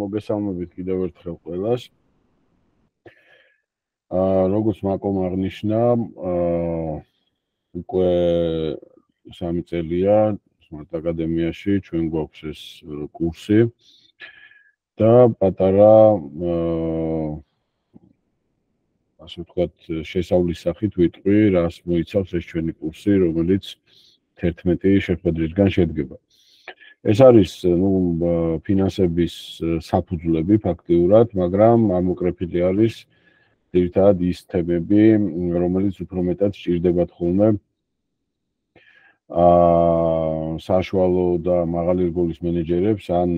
მოგესალმებით კიდევ ერთხელ ყველას. Როგორც მაკომ აღნიშნა, უკვე 3 წელია Smart აკადემიაში ჩვენ გვაქვს ეს კურსი და პატარა ასე ვთქვათ, შესავლის სახით ვიტყვი, რას მოიცავს ეს ჩვენი კურსი, რომელიც 11 შეხვედრისგან შედგება. ეს არის, ფინანსების საფუძვლები ფაქტიურად, მაგრამ ამოკრეფილი არის ძირითადად ის თემები, რომელიც უფრო მეტად სჭირდებათ ხოლმე საშუალო და მაღალი რგოლის მენეჯერებს ან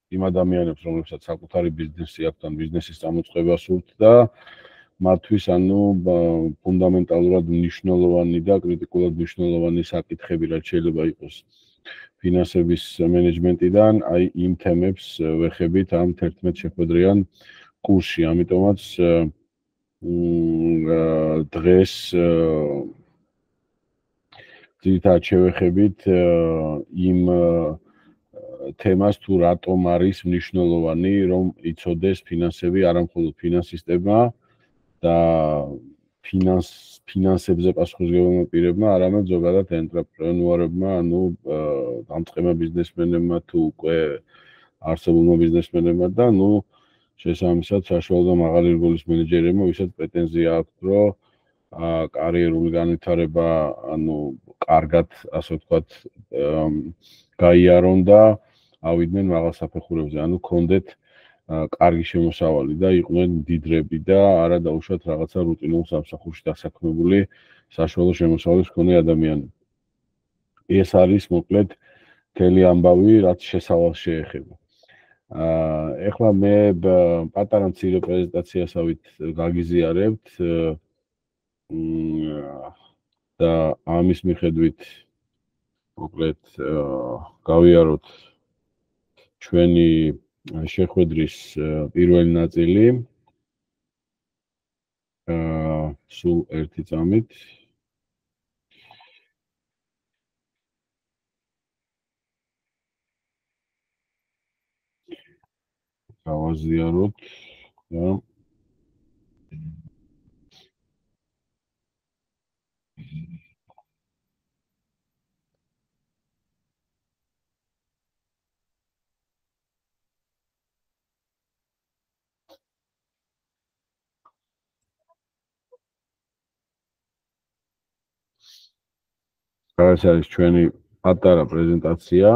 იმ ადამიანებს, რომლებსაც საკუთარი ბიზნესი აქვთ ან ბიზნესის წამოწყება სურთ და მათთვის ფუნდამენტალურად მნიშვნელოვანი და კრიტიკულად მნიშვნელოვანი საკითხები, რაც შეიძლება იყოს ფინანსების მენეჯმენტიდან, აი იმ თემებს ვეხებით ამ 11 შეხვედრიან კურსში. ამიტომაც დღეს ძირითადად შევეხებით იმ თემას თუ რატომ არის მნიშვნელოვანი, რომ იცოდეს ფინანსები, არა მხოლოდ ფინანსისტებმა და ფინანსებზე პასუხისმგებელმა პირებმა, არამედ ზოგადად ენტრეპრენუარებმა, დამწყება ბიზნესმენებმა თუ უკვე არსებულმა ბიზნესმენებმა და შესაბამისად საშუალო და მაღალი რგოლის მენეჯერებმა, ვისაც პრეტენზია აქვთ, რომ კარიერული განვითარება, კარგად, ასე ვთქვათ, გაიარონ და ავიდნენ მაღალ საფეხურებზე, ქონდეთ კარგი შემოსავალი და იყვნენ მდიდრები და არა დაუშვათ რაღაცა რუტინულ სამსახურში დასაქმებული საშუალო შემოსავალის მქონე ადამიანები. ეს არის მოკლედ მთელი ამბავი, რაც შესავალს შეეხება. ეხლა მე პატარა მცირე პრეზენტაციასავით გაგიზიარებთ და ამის მიხედვით მოკლედ გავიაროთ ჩვენი შეხვედრის პირველი ნაწილი. სულ ერთი წამით. გავაზიაროთ და ეს არის ჩვენი პატარა პრეზენტაცია.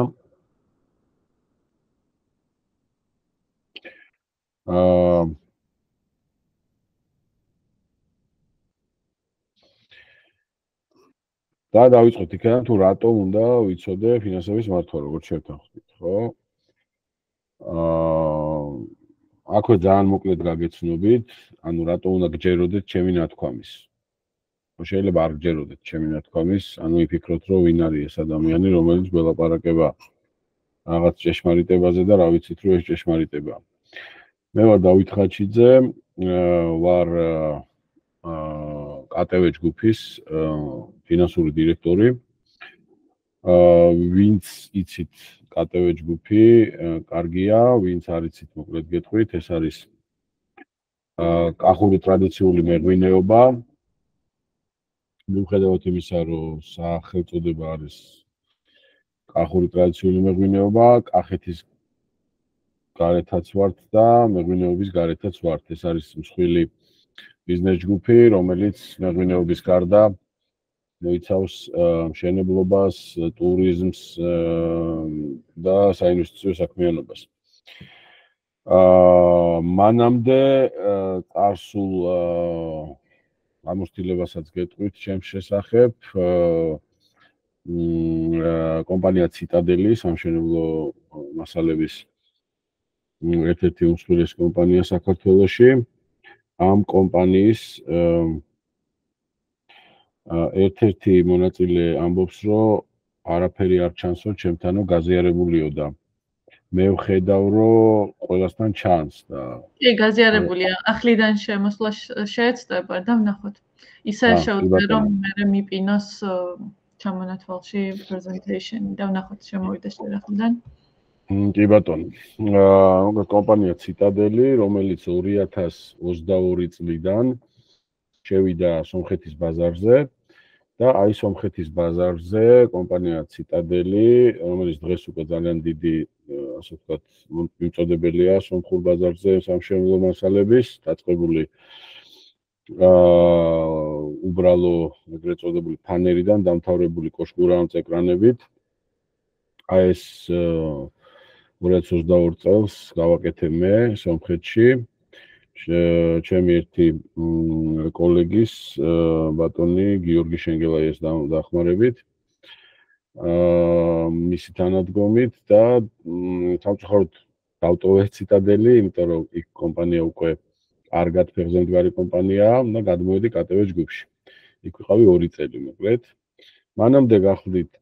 და დავიწყოთ იქიდან თუ რატომ უნდა ვიცოდე ფინანსების მართვა, როგორც შევთანხმდით, ხო? აქვე ძალიან მოკლედ გაგეცნობით, რატომ უნდა გჯეროდეთ ჩემი ნათქვამის. შეიძლება არ გჯეროდეთ ჩემი ნათქვამის, იფიქროთ, რომ ვინ არის ეს ადამიანი, რომელიც გველაპარაკება რაღაც ჭეშმარიტებაზე და რა ვიცით, რომ ეს ჭეშმარიტებაა. მე ვარ დავით ხაჩიძე, ვარ ATV ჯგუფის ფინანსური დირექტორი. ვინც იცით ATV ჯგუფი, კარგია, ვინც არ იცით, მოკლედ გეტყვით, ეს არის კახური ტრადიციული მეღვინეობა. მიუხედავად იმისა, რომ სახელწოდება არის კახური ტრადიციული მეღვინეობა, კახეთის გარეთაც ვართ და მეღვინეობის გარეთაც ვართ. ეს არის მსხვილი ბიზნეს ჯგუფი, რომელიც მეღვინეობის გარდა მოიცავს მშენებლობას, ტურიზმს და საინვესტიციო საქმიანობას. მანამდე წარსულ ამოსtildeებასაც გეტყვით ჩემს შესახებ. კომპანია ციტადელი, სამშენებლო მასალების ერთ-ერთი უმსხვილესი კომპანია საქართველოში. ამ კომპანიის ერთ-ერთი მონაწილე ამბობს, რომ არაფერი არ ჩანსო ჩემთანო გაზიარებულიო და მე ვხედავ, რომ ყველასთან ჩანს და კი, გაზიარებულია. ახლიდან შემოსვლა შეეცდება და ვნახოთ. ისე შევძლე, რომ მე მიპინოს ჩამონათვალში presentation და ვნახოთ შემოვიდეს შერახლიდან. კი ბატონო. კომპანია ციტადელი, რომელიც 2022 წლიდან შევიდა სომხეთის ბაზარზე და აი სომხეთის ბაზარზე კომპანია ციტადელი, რომელიც დღეს უკვე ძალიან დიდი, ასე ვთქვათ, მიმწოდებელია სომხურ ბაზარზე სამშენებლო მასალების, დაწყებული უბრალო ეგრეთ წოდებული ფანერიდან დამთავრებული კოშკურაანწ ეკრანებით. აი ეს 2022 წელს გავაკეთე მე სომხეთში. ჩემი ერთი კოლეგის ბატონი გიორგი შენგელაიას დახმარებით. მისი თანადგომით და სამწუხაროდ დავტოვე ციტადელი, იმიტომ რომ იქ კომპანია უკვე კარგად ფეხზე მდგარი კომპანიაა და გადმოვედი KTV ჯგუფში. იქ ვიყავი 2 წელი მოკლედ. მანამდე გახლდით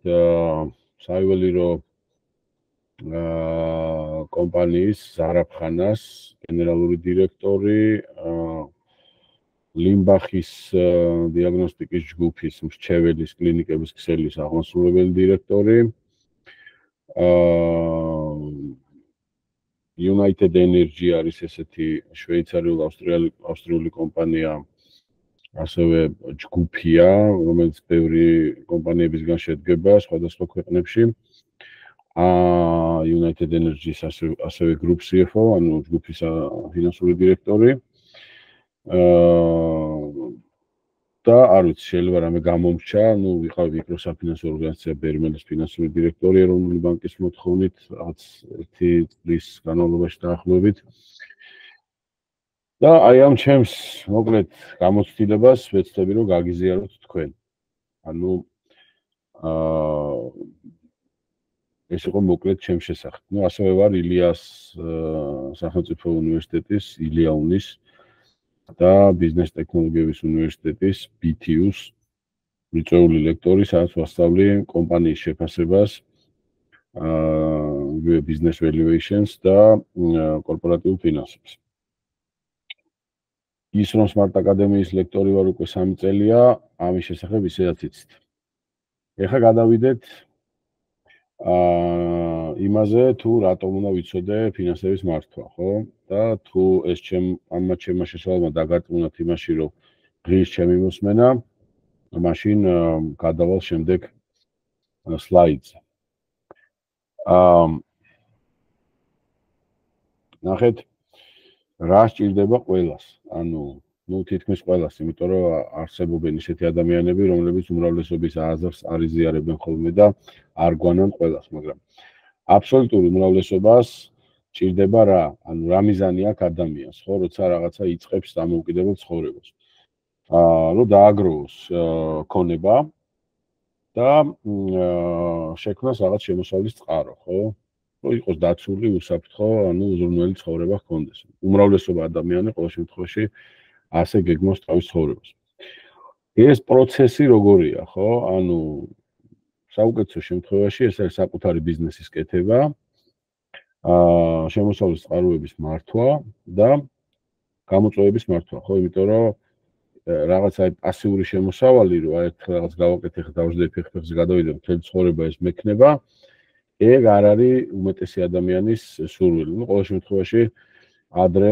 საიუველირო კომპანიის ზარაფხანას გენერალური დირექტორი, ლიმბახის დიაგნოსტიკის ჯგუფის მრჩეველის კლინიკების ქსელის აღმასრულებელი დირექტორი, United Energy არის ესეთი შვეიცარიულ-ავსტრიული კომპანია, ასევე ჯგუფია, რომელიც ბევრი კომპანიებისგან შედგება სხვადასხვა ქვეყნებში. United Energy-ს ასევე Group CFO, ანუ ჯგუფის ფინანსური დირექტორი. და არ ვიცი, შეიძლება რამე გამომრჩა, ვიყავი მიკრო საფინანსო ორგანიზაცია ბერმელის ფინანსური დირექტორი ეროვნული ბანკის მოთხოვნით, რაღაც 1 წლის განმავლობაში დაახლოებით. და აი ამ ჩემს მოკლედ გამოცდილებას ვეცდები რომ გაგიზიაროთ თქვენ. ანუ ეს იყო მოკლედ ჩემს შესახებ. ასევე ვარ ილიას სახელმწიფო უნივერსიტეტის ილიაუნის და ბიზნეს ტექნოლოგიების უნივერსიტეტის BTU-ს მიწვეული ლექტორი, სადაც ვასწავლი კომპანიის შეფასებას, business valuations და კორპორატიულ ფინანსებს. ის რომ Smart Academy-ის ლექტორი ვარ უკვე 3 წელია, ამის შესახებ ისედაც იცით. ეხლა გადავიდეთ იმაზე თუ რატომ უნდა ვიცოდე ფინანსების მართვა, ხო? და თუ ეს ამათ ჩემმა შესავალმა დაგარწმუნათ იმაში, რომ ღირს ჩემი მოსმენა, მაშინ გადავალ შემდეგ სლაიდზე. ნახეთ, რა სჭირდება ყველას? ანუ თითქმის ყველას, იმიტომ რომ არსებობენ ისეთი ადამიანები, რომლებიც უმრავლესობის აზრს არ იზიარებენ ხოლმე და არ გვანან ყველას, მაგრამ აბსოლუტური უმრავლესობას ჭირდება რა? ანუ რა მიზანი აქვს ადამიანს, ხო, როცა რაღაცა იწყებს დამოუკიდებელ ცხოვრებას. რომ დააგროვოს ქონება და შექმნას რაღაც შემოსავლის წყარო, ხო? რომ იყოს დაცული, უსაფრთხო, ანუ უზრუნველი ცხოვრება ჰქონდეს. უმრავლესობა ადამიანი ყოველ შემთხვევაში ასე გეგმავს თავის ცხოვრებას. ეს პროცესი როგორია, ხო? ანუ საუკეთესო შემთხვევაში ეს არის საკუთარი ბიზნესის კეთება, შემოსავლის წყაროების მართვა და გამოწვევების მართვა, ხო? იმიტომ რომ რაღაცა პასიური შემოსავალი, რომ აი რაღაც გავაკეთე, ხა დავждები ფეხზე გადავიდე, მთელი ცხოვრება ეს მექნება, ეგ არ არის უმეტესი ადამიანის სურვილი. ყოველ შემთხვევაში ადრე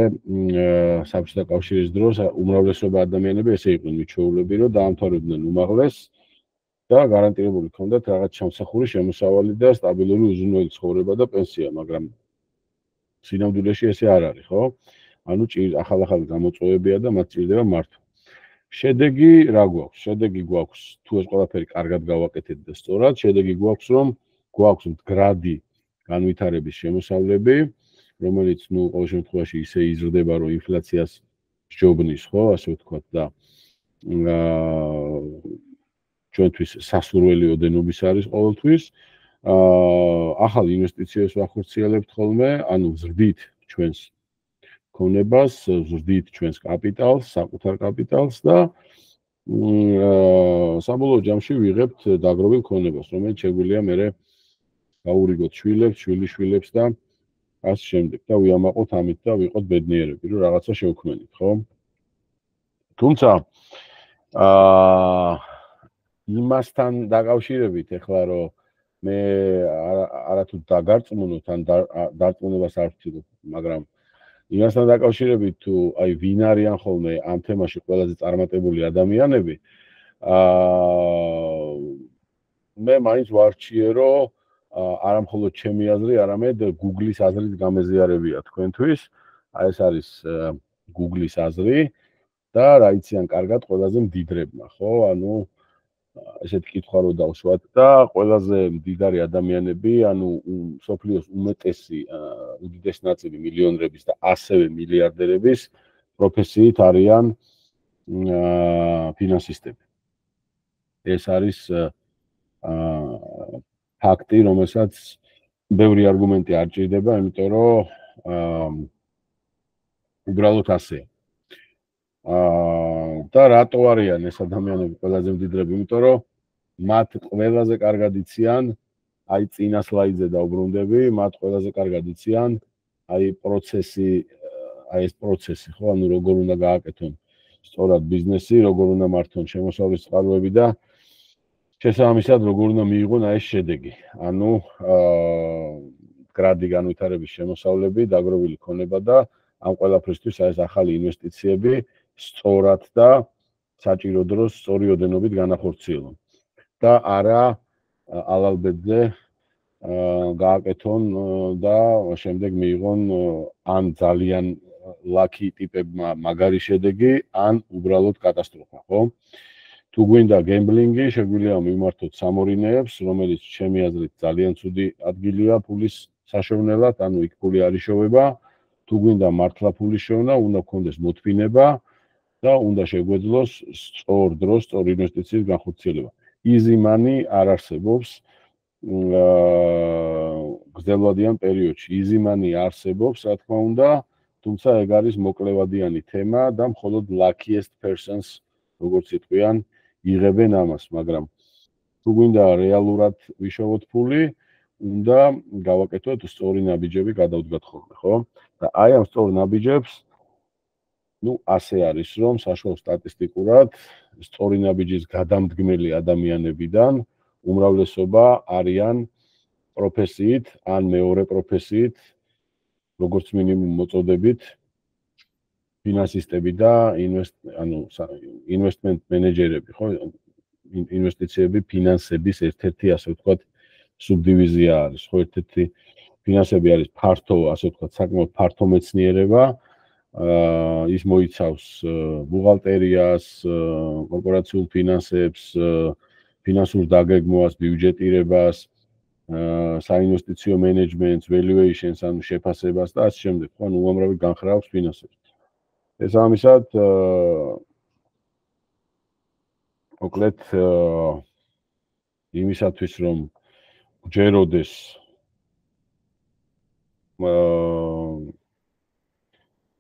საბჭოთა კავშირის დროს უმრავლესობა ადამიანები ესე იყვნენ მიჩვეულები, რომ დაამთავრებდნენ უმაღლეს და გარანტირებული ჰქონდათ რაღაც ჩამსახური შემოსავალი და სტაბილური უზრუნველი ცხოვრება და პენსია, მაგრამ სინამდვილეში ესე არ არის, ხო? ანუ ახალ-ახალი გამოწვევებია და მათ ჭირდება მართვა. შედეგი რა გვაქვს? შედეგი გვაქვს, თუ ეს ყველაფერი კარგად გავაკეთეთ და სწორად, შედეგი გვაქვს, რომ გვაქვს მდგრადი განვითარების შემოსავლები, რომელიც ყოველ შემთხვევაში ისე იზრდება, რომ ინფლაციას სჯობნის, ხო, ასე ვთქვათ და ჩვენთვის სასურველი ოდენობის არის ყოველთვის. ახალ ინვესტიციებს ვახორციელებთ ხოლმე, ანუ ვზრდით ჩვენს ქონებას, ვზრდით ჩვენს კაპიტალს, საკუთარ კაპიტალს და საბოლოო ჯამში ვიღებთ დაგროვილ ქონებას, რომელიც შეგვიძლია მერე გაურიგოთ შვილებს, შვილიშვილებს და ასე შემდეგ და ვიამაყოთ ამით და ვიყოთ ბედნიერები, რომ რაღაცა შევქმნით, ხო? თუმცა იმასთან დაკავშირებით ეხლა რომ მე არათუ დაგარწმუნოთ ან დარწმუნებას არ ვცდილობ, მაგრამ იმასთან დაკავშირებით თუ აი ვინ არიან ხოლმე ამ თემაში ყველაზე წარმატებული ადამიანები, მე მაინც ვარჩიე, რომ არა მხოლოდ ჩემი აზრი, არამედ Google-ის აზრით გამეზიარებია თქვენთვის. აი ეს არის Google-ის აზრი და რა იციან კარგად ყველაზე მდიდრებმა, ხო? ანუ ესეთ კითხვა რო დავშვათ და ყველაზე მდიდარი ადამიანები, ანუ სოფლიოს უმეტესი უდიდესი ნაწილი მილიონერების და ასევე მილიარდერების პროფესიით არიან ფინანსისტები. ეს არის ფაქტი, რომელსაც ბევრი არგუმენტი არ ჭირდება, იმიტომ რომ უბრალოდ ასეა. და რატო არიან ეს ადამიანები ყველაზე მდიდრები? იმიტომ რომ მათ ყველაზე კარგად იციან, აი წინა სლაიდზე დავბრუნდები, მათ ყველაზე კარგად იციან, აი პროცესი, აი ეს პროცესი, ხო, ანუ როგორ უნდა გააკეთონ სწორად ბიზნესი, როგორ უნდა მართონ შემოსავლის წყაროები და შესაბამისად როგორ უნდა მიიღონ აი ეს შედეგი. ანუ გრადი განვითარების შემოსავლები, დაგროვილი ქონება და ამ ყველაფრისთვის აი ეს ახალი ინვესტიციები სწორად და საჭირო დროს სწორი ოდენობით განახორციელონ. და არა ალალბედზე გააკეთონ და შემდეგ მიიღონ ან ძალიან ლაკი ტიპებმა მაგარი შედეგი, ან უბრალოდ კატასტროფა, ხო? თუ გვინდა გემბლინგი, შეგვიძლია მიმართოთ სამორინეებს, რომელიც ჩემი აზრით ძალიან ცუდი ადგილია ფულის საშოვნელად, ანუ იქ ფული არ იშოვება. თუ გვინდა მართლა ფულის შოვნა, უნდა გქონდეს მოთმინება და უნდა შეგვეძლოს სწორ დროს სწორ ინვესტიციის განხორციელება. Easy money არ არსებობს გრძელვადიან პერიოდში. Easy money არსებობს, რა თქმა უნდა, თუმცა ეგ არის მოკლევადიანი თემა და მხოლოდ luckiest persons, როგორც იტყვიან, იღებენ ამას, მაგრამ თუ გვინდა რეალურად ვიშოვოთ ფული, უნდა გავაკეთოთ სწორი ნაბიჯები გადავდგათ ხოლმე, ხო? და აი ამ სწორ ნაბიჯებს ასე არის, რომ საშუალო სტატისტიკურად სწორი ნაბიჯის გადამდგმელი ადამიანებიდან უმრავლესობა არიან პროფესიით ან მეორე პროფესიით, როგორც მინიმუმ მოწოდებით ფინანსისტები და ინვესტმენტ მენეჯერები, ხო? ინვესტიციები ფინანსების ერთ-ერთი, ასე ვთქვათ, სუბდივიზია არის, ხო? ერთ-ერთი ფინანსები არის ფართო, ასე ვთქვათ, საკმაოდ ფართო მეცნიერება. ის მოიცავს ბუღალტერიას, კორპორაციულ ფინანსებს, ფინანსურ დაგეგმვას, ბიუჯეტირებას, საინვესტიციო მენეჯმენტს, valuations, ანუ შეფასებას და ასე შემდეგ, ხო, ანუ უამრავი განხრავს ფინანსებს. შესაბამისად, მოკლედ იმისათვის, რომ გჯეროდეს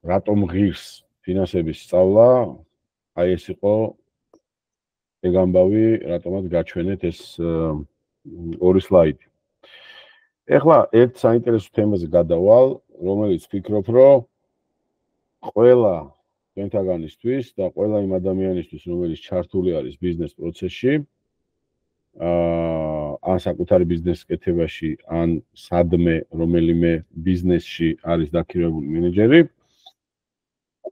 რატომ ღირს ფინანსების სწავლა, აი ეს იყო ეგ ამბავი, რატომაც გაჩვენეთ ეს ორი სლაიდი. ეხლა ერთ საინტერესო თემაზე გადავალ, რომელიც ვფიქრობ, რომ ყველა თქვენთაგანისთვის და ყველა იმ ადამიანისთვის, რომელიც ჩართული არის ბიზნეს პროცესში, ან საკუთარი ბიზნესის კეთებაში, ან სადმე რომელიმე ბიზნესში არის დაქირავებული მენეჯერი,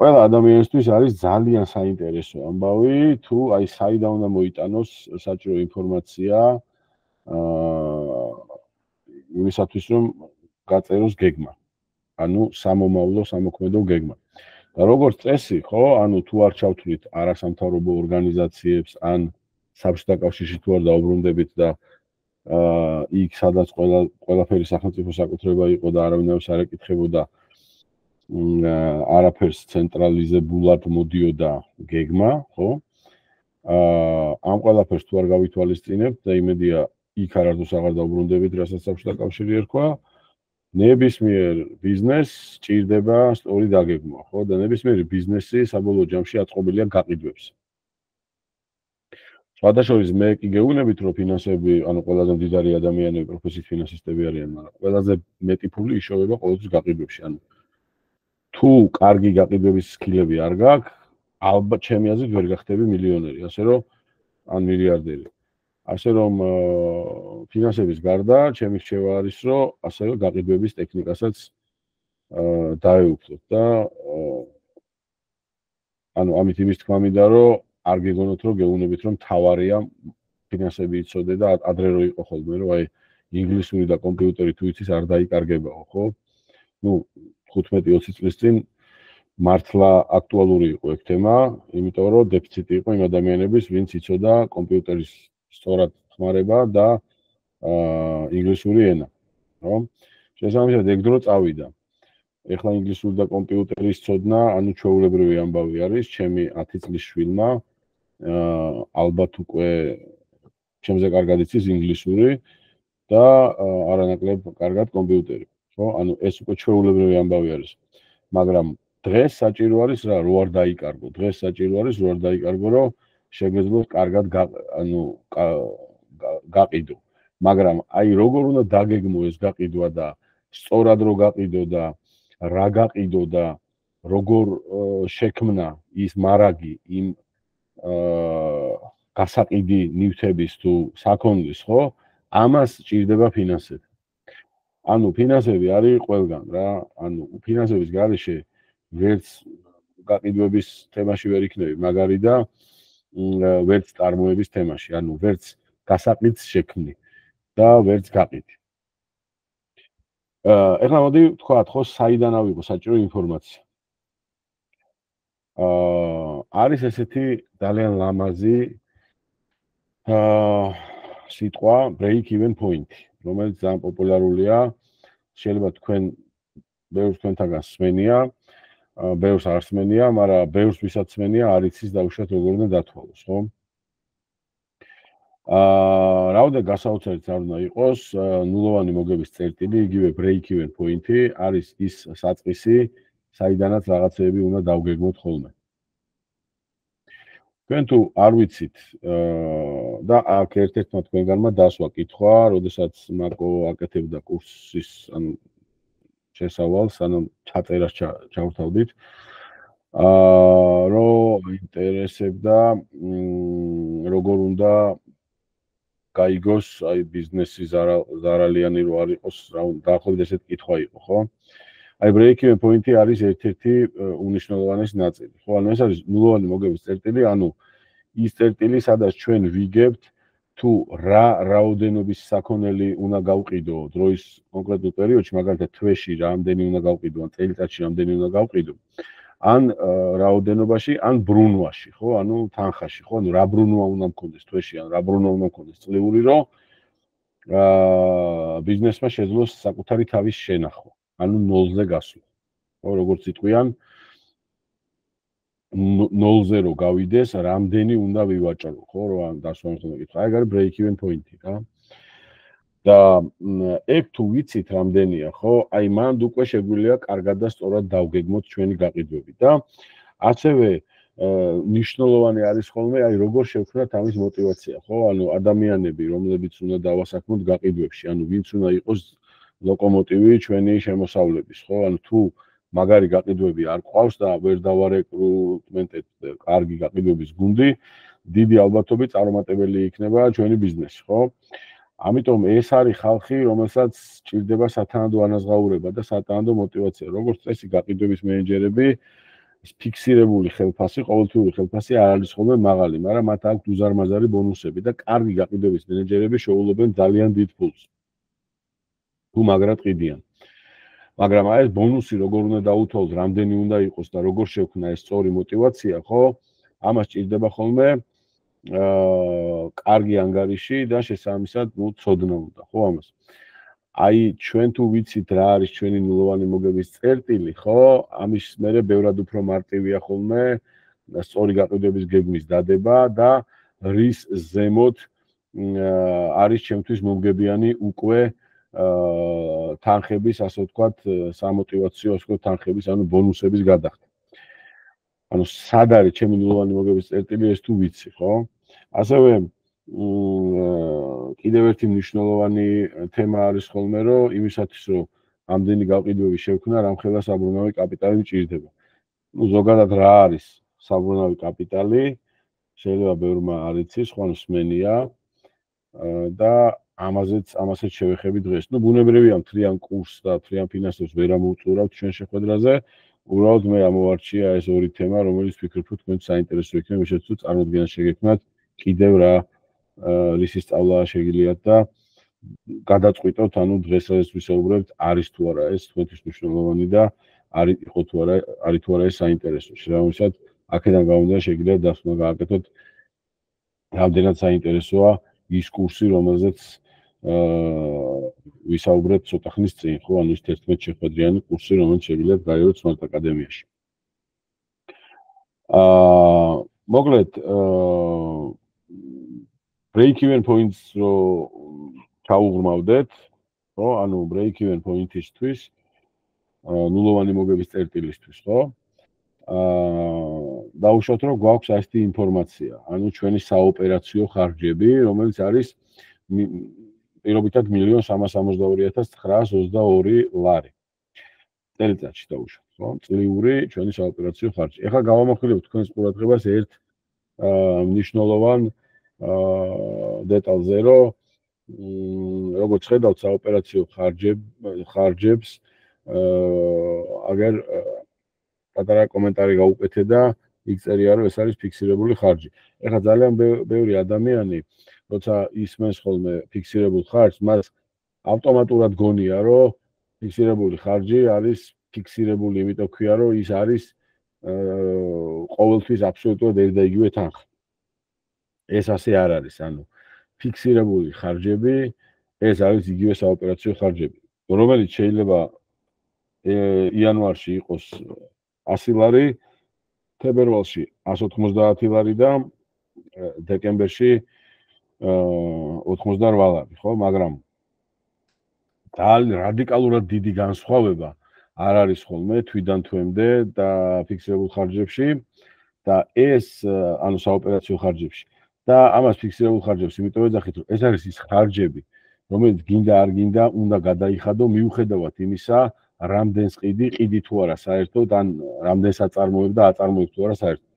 ყველა ადამიანისთვის არის ძალიან საინტერესო ამბავი, თუ აი საიდან უნდა მოიტანოს საჭირო ინფორმაცია იმისათვის, რომ გაწეროს გეგმა. ანუ სამომავლო, სამოქმედო გეგმა. და როგორც წესი, ხო, ანუ თუ არ ჩავთვლით არასამთავრობო ორგანიზაციებს, ან საბჭოთა კავშირში თუ არ დაუბრუნდებით და იქ სადაც ყველაფერი სახელმწიფო საკუთრება იყო და არავინ არ ეკითხებოდა არაფერს ცენტრალიზებულად მოდიოდა გეგმა, ხო? ამ ყველაფერს თუ არ გავითვალისწინებთ და იმედია იქ არასდროს აღარ დაუბრუნდებით, რასაც საბჭოთა კავშირი ერქვა, ნებისმიერ ბიზნესს სჭირდება სწორი დაგეგმვა, ხო? და ნებისმიერი ბიზნესი საბოლოო ჯამში აწყობილია გაყიდვებს. სხვადასხვა მე კი გეუბნებით, რომ ფინანსები, ანუ ყველაზე მდიდარი ადამიანები პროფესიით ფინანსისტები არიან, მაგრამ ყველაზე მეტი ფული იშოვება ყოველთვის გაყიდვებში. ანუ თუ კარგი გაყიდვების სკილები არ გაქვს, ალბათ ჩემი აზრით ვერ გახდები მილიონერი, ასე რომ ან მილიარდერი. ასე რომ ფინანსების გარდა ჩემი რჩევა არის, რომ ასევე გაყიდვების ტექნიკასაც დაეუფლოთ და ანუ ამით იმის თქმა მინდა, რომ არ გეგონოთ, რომ გეუბნებით, რომ თავარია ფინანსები იცოდე და ადრე რო იყო ხოლმე, რომ აი ინგლისური და კომპიუტერი თუ იცის არ დაიკარგებაო, ხო? ნუ 15-20 წლის წინ მართლა აქტუალური იყო ეგ თემა, იმიტომ რომ დეფიციტი იყო იმ ადამიანების, ვინც იცოდა კომპიუტერის სწორად ხმარება და ინგლისური ენა, ხო? შესაბამისად ეგ დრო წავიდა. ეხლა ინგლისური და კომპიუტერის ცოდნა, ანუ ჩვეულებრივი ამბავი არის, ჩემი 10 წლის შვილმა ალბათ უკვე ჩემზე კარგად იცის ინგლისური და არანაკლებ კარგად კომპიუტერი, ხო? ანუ ეს უკვე ჩვეულებრივი ამბავი არის. მაგრამ დღეს საჭირო არის რა, რო არ დაიკარგო. დღეს საჭირო არის რო არ დაიკარგო, რომ შეგეძლოთ კარგად გაყიდო. მაგრამ აი როგორ უნდა დაგეგმო ეს გაყიდვა და სწორად რო გაყიდო და რა გაყიდო და როგორ შექმნა ის მარაგი იმ გასაყიდი ნივთების თუ საქონლის, ხო? ამას ჭირდება ფინანსები. ანუ ფინანსები არის ყველგან რა. ანუ ფინანსების გარეშე ვერც გაყიდვების თემაში ვერ იქნები მაგარი და ვერც წარმოების თემაში, ანუ ვერც გასაყიდს შექმნი და ვერც გაყიდი. ეხლა მოდი ვთქვათ, ხო, საიდან ავიღო საჭირო ინფორმაცია. არის ესეთი ძალიან ლამაზი სიტყვა break even point, რომელიც ძალიან პოპულარულია. შეიძლება თქვენ ბევრს თქვენთაგან სმენია, ბევრს არ სმენია, მაგრამ ბევრს ვისაც სმენია, არ იცის დაუშვათ როგორ უნდა დათვალოს, ხო? რაოდენად გასაოცარიც არ უნდა იყოს, ნულოვანი მოგების წერტილი, იგივე break even point-ი არის ის საწყისი, საიდანაც რაღაცეები უნდა დავგეგმოთ ხოლმე. თქვენ თუ არ ვიცით და აქ ერთ-ერთმა თქვენგანმა დასვა კითხვა, როდესაც მაკო აკეთებდა კურსის ან შესავალს, ანუ ჩაწერას ჩავთავდით, რომ ინტერესებდა როგორ უნდა გაიგოს აი ბიზნესი ზარალიანი რო არ იყოს, რა დაახლოებით ესეთ კითხვა იყო, ხო? აი break-even point-ი არის ერთ-ერთი უნიშნულოვანესი ნაწილი. ხო, ანუ ეს არის ნულოვანი მოგების წერტილი, ანუ ის წერტილი, სადაც ჩვენ ვიგებთ თუ რა რაოდენობის საქონელი უნდა გავყიდო დროის კონკრეტულ პერიოდში, მაგალითად თვეში რამდენი უნდა გავყიდო, ან წელიწადში რამდენი უნდა გავყიდო, ან რაოდენობაში, ან ბრუნვაში, ხო, ანუ თანხაში, ხო, ანუ რა ბრუნვა უნდა მქონდეს თვეში, ან რა ბრუნვა უნდა მქონდეს წლიური, რომ ბიზნესმა შეძლოს საკუთარი თავის შენახვა. ანუ ნოლზე გასვლა. ხო, როგორც იტყვიან, ნოლზე რო გავიდეს, რამდენი უნდა ვივაჭრო, ხო, რომ დასვამს უნდა კითხვა. აი, არის break even point-ი, რა. და ეგ თუ ვიცით რამდენია, ხო, აი მანდ უკვე შეგვიძლია კარგად და სწორად დავგეგმოთ ჩვენი გაყიდვები და ასევე ნიშნულოვანი არის ხოლმე, აი როგორ შევქმნათ ამის мотиваცია, ხო? ანუ ადამიანები, რომლებიც უნდა დავასაქმოთ გაყიდვებში, ანუ ვინც უნდა იყოს ლოკომოტივი ჩვენი შემოსავლების, ხო? ანუ თუ მაგარი გაყიდვები არ ყავს და ვერ დავარეკრუტმენტეთ კარგი გაყიდვების გუნდი, დიდი ალბათობით წარუმატებელი იქნება ჩვენი ბიზნესი, ხო? ამიტომ ეს არის ხალხი, რომელსაც ჭირდება სათანადო ანაზღაურება და სათანადო мотиваცია. როგორც წესი გაყიდვების მენეჯერები ფიქსირებული ხელფასი, ყოველთვიური ხელფასი არ არის ხოლმე მაღალი, მაგრამ მათ აქვთ უზარმაზარი ბონუსები და კარგი გაყიდვების მენეჯერები შეუულებენ ძალიან დიდ ფულს. თუ მაგრად ყიდიან. მაგრამ აი ეს ბონუსი როგორ უნდა დაუთვალოთ, რამდენი უნდა იყოს და როგორ შევქმნა ეს სწორი мотиваცია, ხო? ამას ჭირდება ხოლმე კარგი ანგარიში და შესაბამისად, ცოდნა უნდა, ხო ამას. აი ჩვენ თუ ვიცით რა არის ჩვენი ნულოვანი მოგების წერტილი, ხო? ამის მერე ბევრად უფრო მარტივია ხოლმე სწორი გაყიდვების გეგმის დადება და რის ზემოთ არის ჩემთვის მომგებიანი უკვე თანხების, ასე ვთქვათ, სამოტივაციო, ასე ვთქვათ, თანხების, ანუ ბონუსების გადახდა. ანუ სად არის ჩემი ნულოვანი მოგების წერტილი, ეს თუ ვიცი, ხო? ასევე კიდევ ერთი მნიშვნელოვანი თემა არის ხოლმე, რომ იმისათვის, რომ ამდენი გაყიდვები შევქმნა, რამხელა საბრუნავი კაპიტალი მჭირდება. ნუ ზოგადად რა არის საბრუნავი კაპიტალი? შეიძლება ბევრმა არ იცის, ხო, ანუ სმენია. და ამასაც შევეხები დღეს. ნუ ბუნებრივია მთლიან კურსს და მთლიან ფინანსებს ვერ ამოვწურავთ ჩვენ შეხვედრაზე. უბრალოდ მე ამოვარჩია ეს ორი თემა, რომელიც ვფიქრობ, რომ თქვენ საინტერესო იქნება, შეც თუ წარმოდგენა შეგექმნათ კიდევ რა რისი სწავლა შეგიძლიათ და გადაწყვიტოთ, ანუ დღეს ეს ვისაუბრებთ, არის თუ არა ეს თქვენთვის მნიშვნელოვანი და არის თუ არა ეს საინტერესო. შესაბამისად, აქედან გამომდინარე შეგიძლიათ დასკვნა გააკეთოთ, რამდენად საინტერესოა ის კურსი, რომელზეც ვისაუბრებთ ცოტა ხნის წინ, ხო, ანუ ის 11 შეხვედრიანი კურსი, რომელიც შეგიძლიათ გაიაროთ Smart აკადემიაში. მოკლედ, break-even points რო ჩაუღრმავდეთ, ხო, ანუ break-even point-ისთვის, ნულოვანი მოგების წერტილისთვის, ხო? დაუშვათ, რომ გვაქვს ასეთი ინფორმაცია, ანუ ჩვენი საოპერაციო ხარჯები, რომელიც არის პირობითად 1,362,922 ლარი. წელიწადში დაუშვათ, ხო? წლიური ჩვენი საოპერაციო ხარჯი. ეხლა გავამახვილებთ თქვენს ყურადღებას ერთ მნიშვნელოვან დეტალზე, რომ როგორც ხედავთ საოპერაციო ხარჯებს, აგერ პატარა კომენტარი გაუკეთე და იქ წერია, რომ ეს არის ფიქსირებული ხარჯი. ეხლა ძალიან ბევრი ადამიანი, როცა ისმენს ხოლმე ფიქსირებულ ხარჯს, მას ავტომატურად გონია, რომ ფიქსირებული ხარჯი არის ფიქსირებული, იმიტომ ქვია, რომ ის არის ყოველთვის აბსოლუტურად ერთ და იგივე თანხა. ეს ასე არ არის, ანუ ფიქსირებული ხარჯები, ეს არის იგივე საოპერაციო ხარჯები, რომელიც შეიძლება იანვარში იყოს 100 ლარი, თებერვალში 190 ლარი და დეკემბერში 88 ლარი, ხო, მაგრამ ძალიან რადიკალურად დიდი განსხვავება არ არის ხოლმე თვიდან თვემდე და ფიქსირებულ ხარჯებში და ეს ანუ საოპერაციო ხარჯებში და ამას ფიქსირებულ ხარჯებს იმიტომ ეძახით, რომ ეს არის ის ხარჯები, რომელიც გინდა არ გინდა უნდა გადაიხადო მიუხედავად იმისა, რამდენს ყიდი თუ არა საერთოდ, ან რამდენს აწარმოებ და აწარმოებ თუ არა საერთოდ.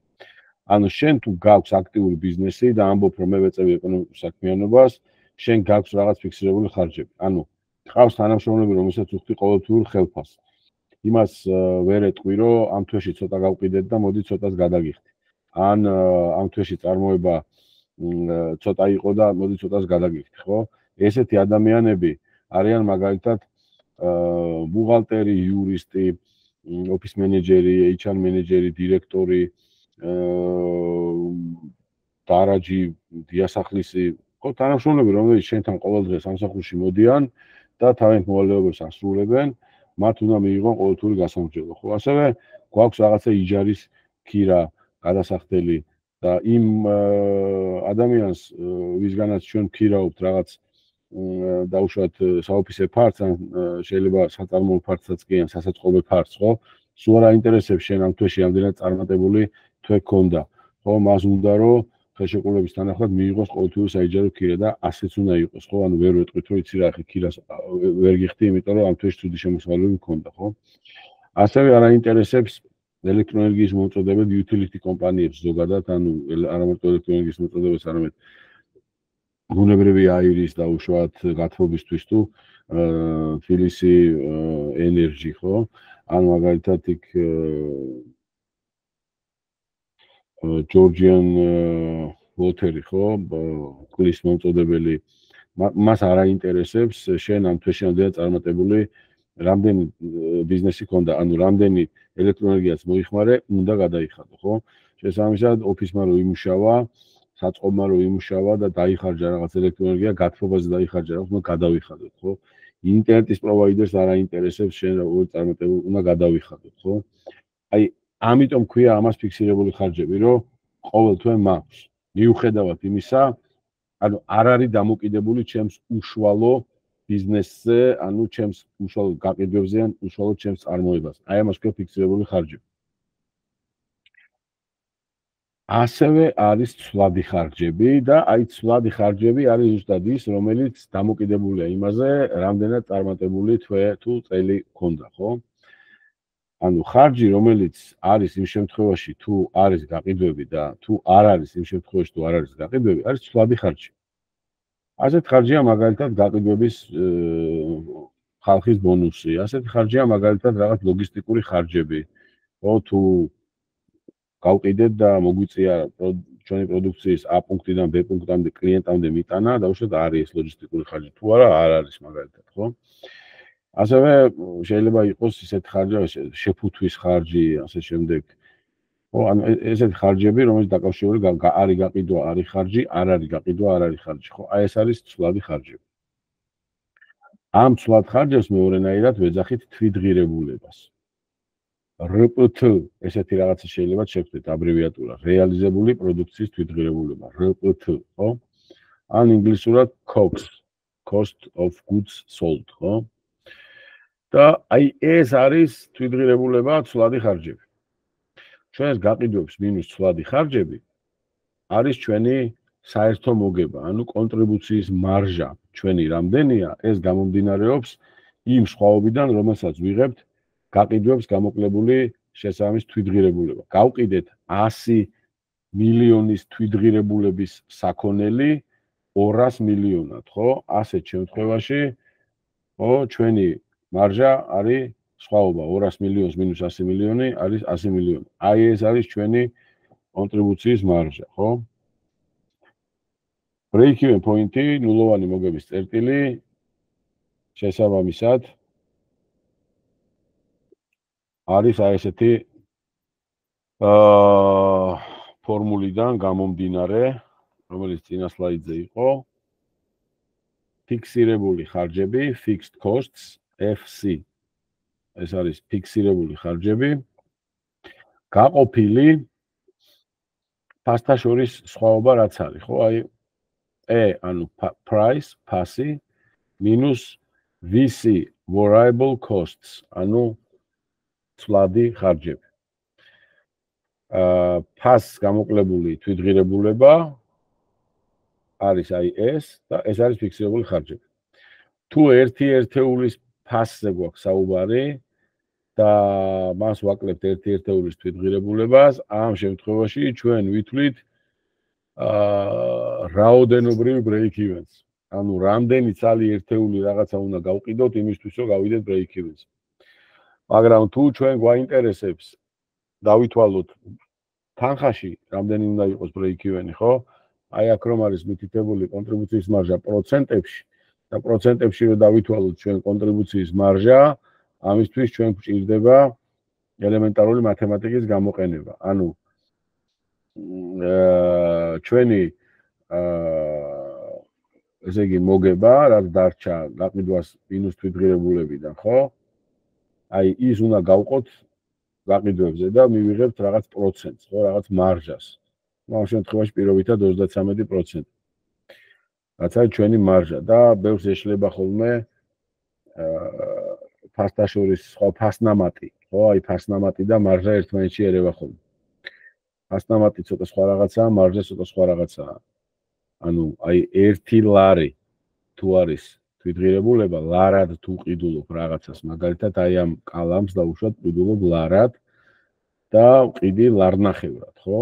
ანუ შენ თუ გაქვს აქტიური ბიზნესი და ამბობ, რომ მე ვეწევი ეკონომიკურ საქმიანობას, შენ გაქვს რაღაც ფიქსირებული ხარჯები. ანუ ყავს თანამშრომლები, რომელსაც უხდი ყოველთვიურ ხელფასს. იმას ვერ ეტყვი, რომ ამ თვეში ცოტა გავყიდეთ და მოდი ცოტას გადაგიხდი. ან ამ თვეში წარმოება ცოტა იყო და მოდი ცოტას გადაგიხდი, ხო? ესეთი ადამიანები არიან მაგალითად ბუღალტერი, იურისტი, ოფის მენეჯერი, HR მენეჯერი, დირექტორი, დარაჯი, დიასახლისი, ხო, თანამშრომლები, რომლებიც შენთან ყოველ დღე სამსახურში მოდიან და თავიანთ მოვალეობებს ასრულებენ, მათ უნდა მიიღონ ყოველთვიური გასამრჯელო, ხო? ასევე გვაქვს რაღაცა იჯარის ქირა, გადასახდელი და იმ ადამიანს, ვისგანაც ჩვენ ვქირავთ რაღაც დაუშვათ საოფისე ფართს, ან შეიძლება საწარმოო ფართსაც კი ან სასაწყობე ფართს, ხო? სულ არ აინტერესებს შენ ამ თვეში რამდენად წარმატებული თვე გქონდა, ხო? მას უნდა რომ ხელშეკრულების თანახმად მიიღოს ყოველთვიური საიჯარო ქირა და ასეც უნდა იყოს, ხო? ანუ ვერ ვეტყვით, რომ იცი რა, ხე ქირას ვერ გიხდი, იმიტომ რომ ამ თვეში ცუდი შემოსავლები მქონდა, ხო? ასევე არ აინტერესებს ელექტროენერგიის მომწოდებელ utility კომპანიებს ზოგადად, ანუ არა მარტო ელექტროენერგიის მომწოდებელს, არამედ ბუნებრივი აირის დაუშვათ გათბობისთვის თუ თბილისი ენერჯი, ხო? ანუ მაგალითად იქ Georgian water, ხო? კლის მომწოდებელი მას არ აინტერესებს შენ ამ თვეში რამდენად წარმატებული რამდენი ბიზნესი ქონდა, ანუ რამდენი ელექტროენერგიაც მოიხმარე, უნდა გადაიხადო, ხო? შესაბამისად, ოფისმა რო იმუშავა, საწყობმა რო იმუშავა და დაიხარჯა რაღაც ელექტროენერგია, გათბობაზე დაიხარჯა რაღაც, უნდა გადავიხადოთ, ხო? ინტერნეტის პროვაიდერს არ აინტერესებს შენ როგორ წარმატებული უნდა გადავიხადოთ, ხო? აი, ამიტომ ქვია ამას ფიქსირებული ხარჯები, რომ ყოველ თვე მაქვს. მიუხედავად იმისა, ანუ არ არის დამოკიდებული ჩემს უშუალო ბიზნესზე, ანუ ჩემს უშუალო გაყიდვებზე ან უშუალო ჩემს წარმოებას. აი ამას ქვია ფიქსირებული ხარჯები. ასევე არის ცვლადი ხარჯები და აი ცვლადი ხარჯები არის ზუსტად ის, რომელიც დამოკიდებულია იმაზე, რამდენად წარმატებული თვე თუ წელი გქონდა, ხო? ანუ ხარჯი, რომელიც არის იმ შემთხვევაში, თუ არის გაყიდვები და თუ არ არის იმ შემთხვევაში, თუ არ არის გაყიდვები, არის ცვლადი ხარჯი. ასეთ ხარჯია მაგალითად გაყიდვების ხალხის ბონუსი, ასეთ ხარჯია მაგალითად რაღაც ლოგისტიკური ხარჯები. ხო, თუ გავყიდეთ და მოგვიწია ჩვენი პროდუქციის A პუნქტიდან B პუნქტამდე კლიენტამდე მიტანა, დაუშვათ არის ეს ლოგისტიკური ხარჯი, თუ არა, არ არის მაგალითად, ხო? ასევე შეიძლება იყოს ისეთ ხარჯი, შეფუთვის ხარჯი, ასე შემდეგ. ხო, ანუ ესეთი ხარჯები, რომელიც დაკავშირებული არის გაყიდვა, არის ხარჯი, არ არის გაყიდვა, არ არის ხარჯი, ხო? აი ეს არის ცვლადი ხარჯები. ამ ცვლად ხარჯებს მეორენაირად ვეძახით თვითღირებულებას. RPT ესეთი რაღაცა შეიძლება შევხვდეთ აბრევიატურა, რეალიზებული პროდუქციის თვითღირებულება, RPT, ხო? ან ინგლისურად COGS, cost of goods sold, ხო? და აი ეს არის თვითღირებულება, ცვლადი ხარჯები. ჩვენს გაყიდვებს მინუს ცვლადი ხარჯები არის ჩვენი საერთო მოგება, ანუ კონტრიბუციის მარჟა ჩვენი რამდენია, ეს გამომდინარეობს იმ სხვაობიდან, რომელსაც ვიღებთ გაყიდვებს გამოკლებული შესაბამის თვითღირებულება. გავყიდეთ 100 მილიონის თვითღირებულების საქონელი 200 მილიონად, ხო? ასეთ შემთხვევაში, ხო, ჩვენი მარჟა არის სხვაობა 200 მილიონს მინუს 100 მილიონი არის 100 მილიონი. აი ეს არის ჩვენი კონტრიბუციის მარჟა, ხო? break-even point-ი, ნულოვანი მოგების წერტილი შესაბამისად არის აი ესეთი ფორმულიდან გამომდინარე, რომელიც წინა სლაიდზე იყო. ფიქსირებული ხარჯები, fixed costs, FC. ეს არის ფიქსირებული ხარჯები. გაყოფილი ფასთა შორის სხვაობა რაც არის, ხო? აი E, ანუ price, ფასი, minus VC, variable costs, ანუ ცვლადი ხარჯები. ფასს გამოკლებული თვითღირებულება არის აი ეს და ეს არის ფიქსირებული ხარჯები. თუ ერთი ერთეულის ფასზე გვაქვს საუბარი და მას ვაკლებთ ერთი ერთეულის თვითღირებულებას, ამ შემთხვევაში ჩვენ ვითვლით რაოდენობრივ break-evens. ანუ რამდენი ცალი ერთეული რაღაცა უნდა გავყიდოთ იმისთვის, რომ გავიდეთ break-evens. მაგრამ თუ ჩვენ გვაინტერესებს დავითვალოთ თანხაში რამდენი უნდა იყოს break-even-ი, ხო? აი აქ რომ არის მითითებული კონტრიბუციის მარჟა პროცენტებში და პროცენტებში რომ დავითვალოთ ჩვენ კონტრიბუციის მარჟა, ამისთვის ჩვენ გვჭირდება ელემენტარული მათემატიკის გამოყენება. ანუ ჩვენი ესე იგი მოგება, რაც დარჩა გაყიდვას მინუს თვითღირებულებიდან, ხო? აი ის უნდა გავყოთ გაყიდვებზე და მივიღებთ რაღაც პროცენტს, ხო, რაღაც მარჟას. ამ შემთხვევაში პირობითად 33%. რაც არის ჩვენი მარჟა და ბევრს ეშლება ხოლმე ფასთა შორის სხვა ფასნამატი, ხო, აი ფასნამატი და მარჟა ერთმანეთში ერევა ხოლმე. ფასნამატი ცოტა სხვა რაღაცაა, მარჟა ცოტა სხვა რაღაცაა. ანუ აი 1 ლარი თუ არის თვითღირებულება, ლარად თუ ყიდულობ რაღაცას, მაგალითად აი ამ კალამს დაუშვათ ყიდულობ ლარად და ყიდი ლარნახევრად, ხო?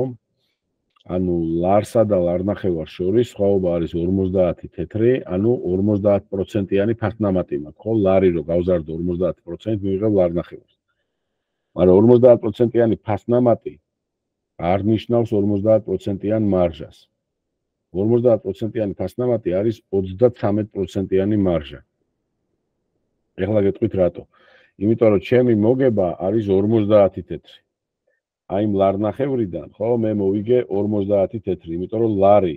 ანუ ლარსა და ლარნახევარს შორის სხვაობა არის 50 თეთრი, ანუ 50%-იანი ფასნამატი მაქვს, ხო? ლარი რო გავზარდო 50%, მივიღებ ლარნახევარს. მაგრამ 50%-იანი ფასნამატი არ ნიშნავს 50%-იან მარჟას. 50%-იანი ფასნამატი არის 33%-იანი მარჟა. ეხლა გეტყვით რატო? იმიტომ რომ ჩემი მოგება არის 50 თეთრი. აი იმ ლარნახევრიდან, ხო, მე მოვიგე 50 თეთრი, იმიტომ რომ ლარი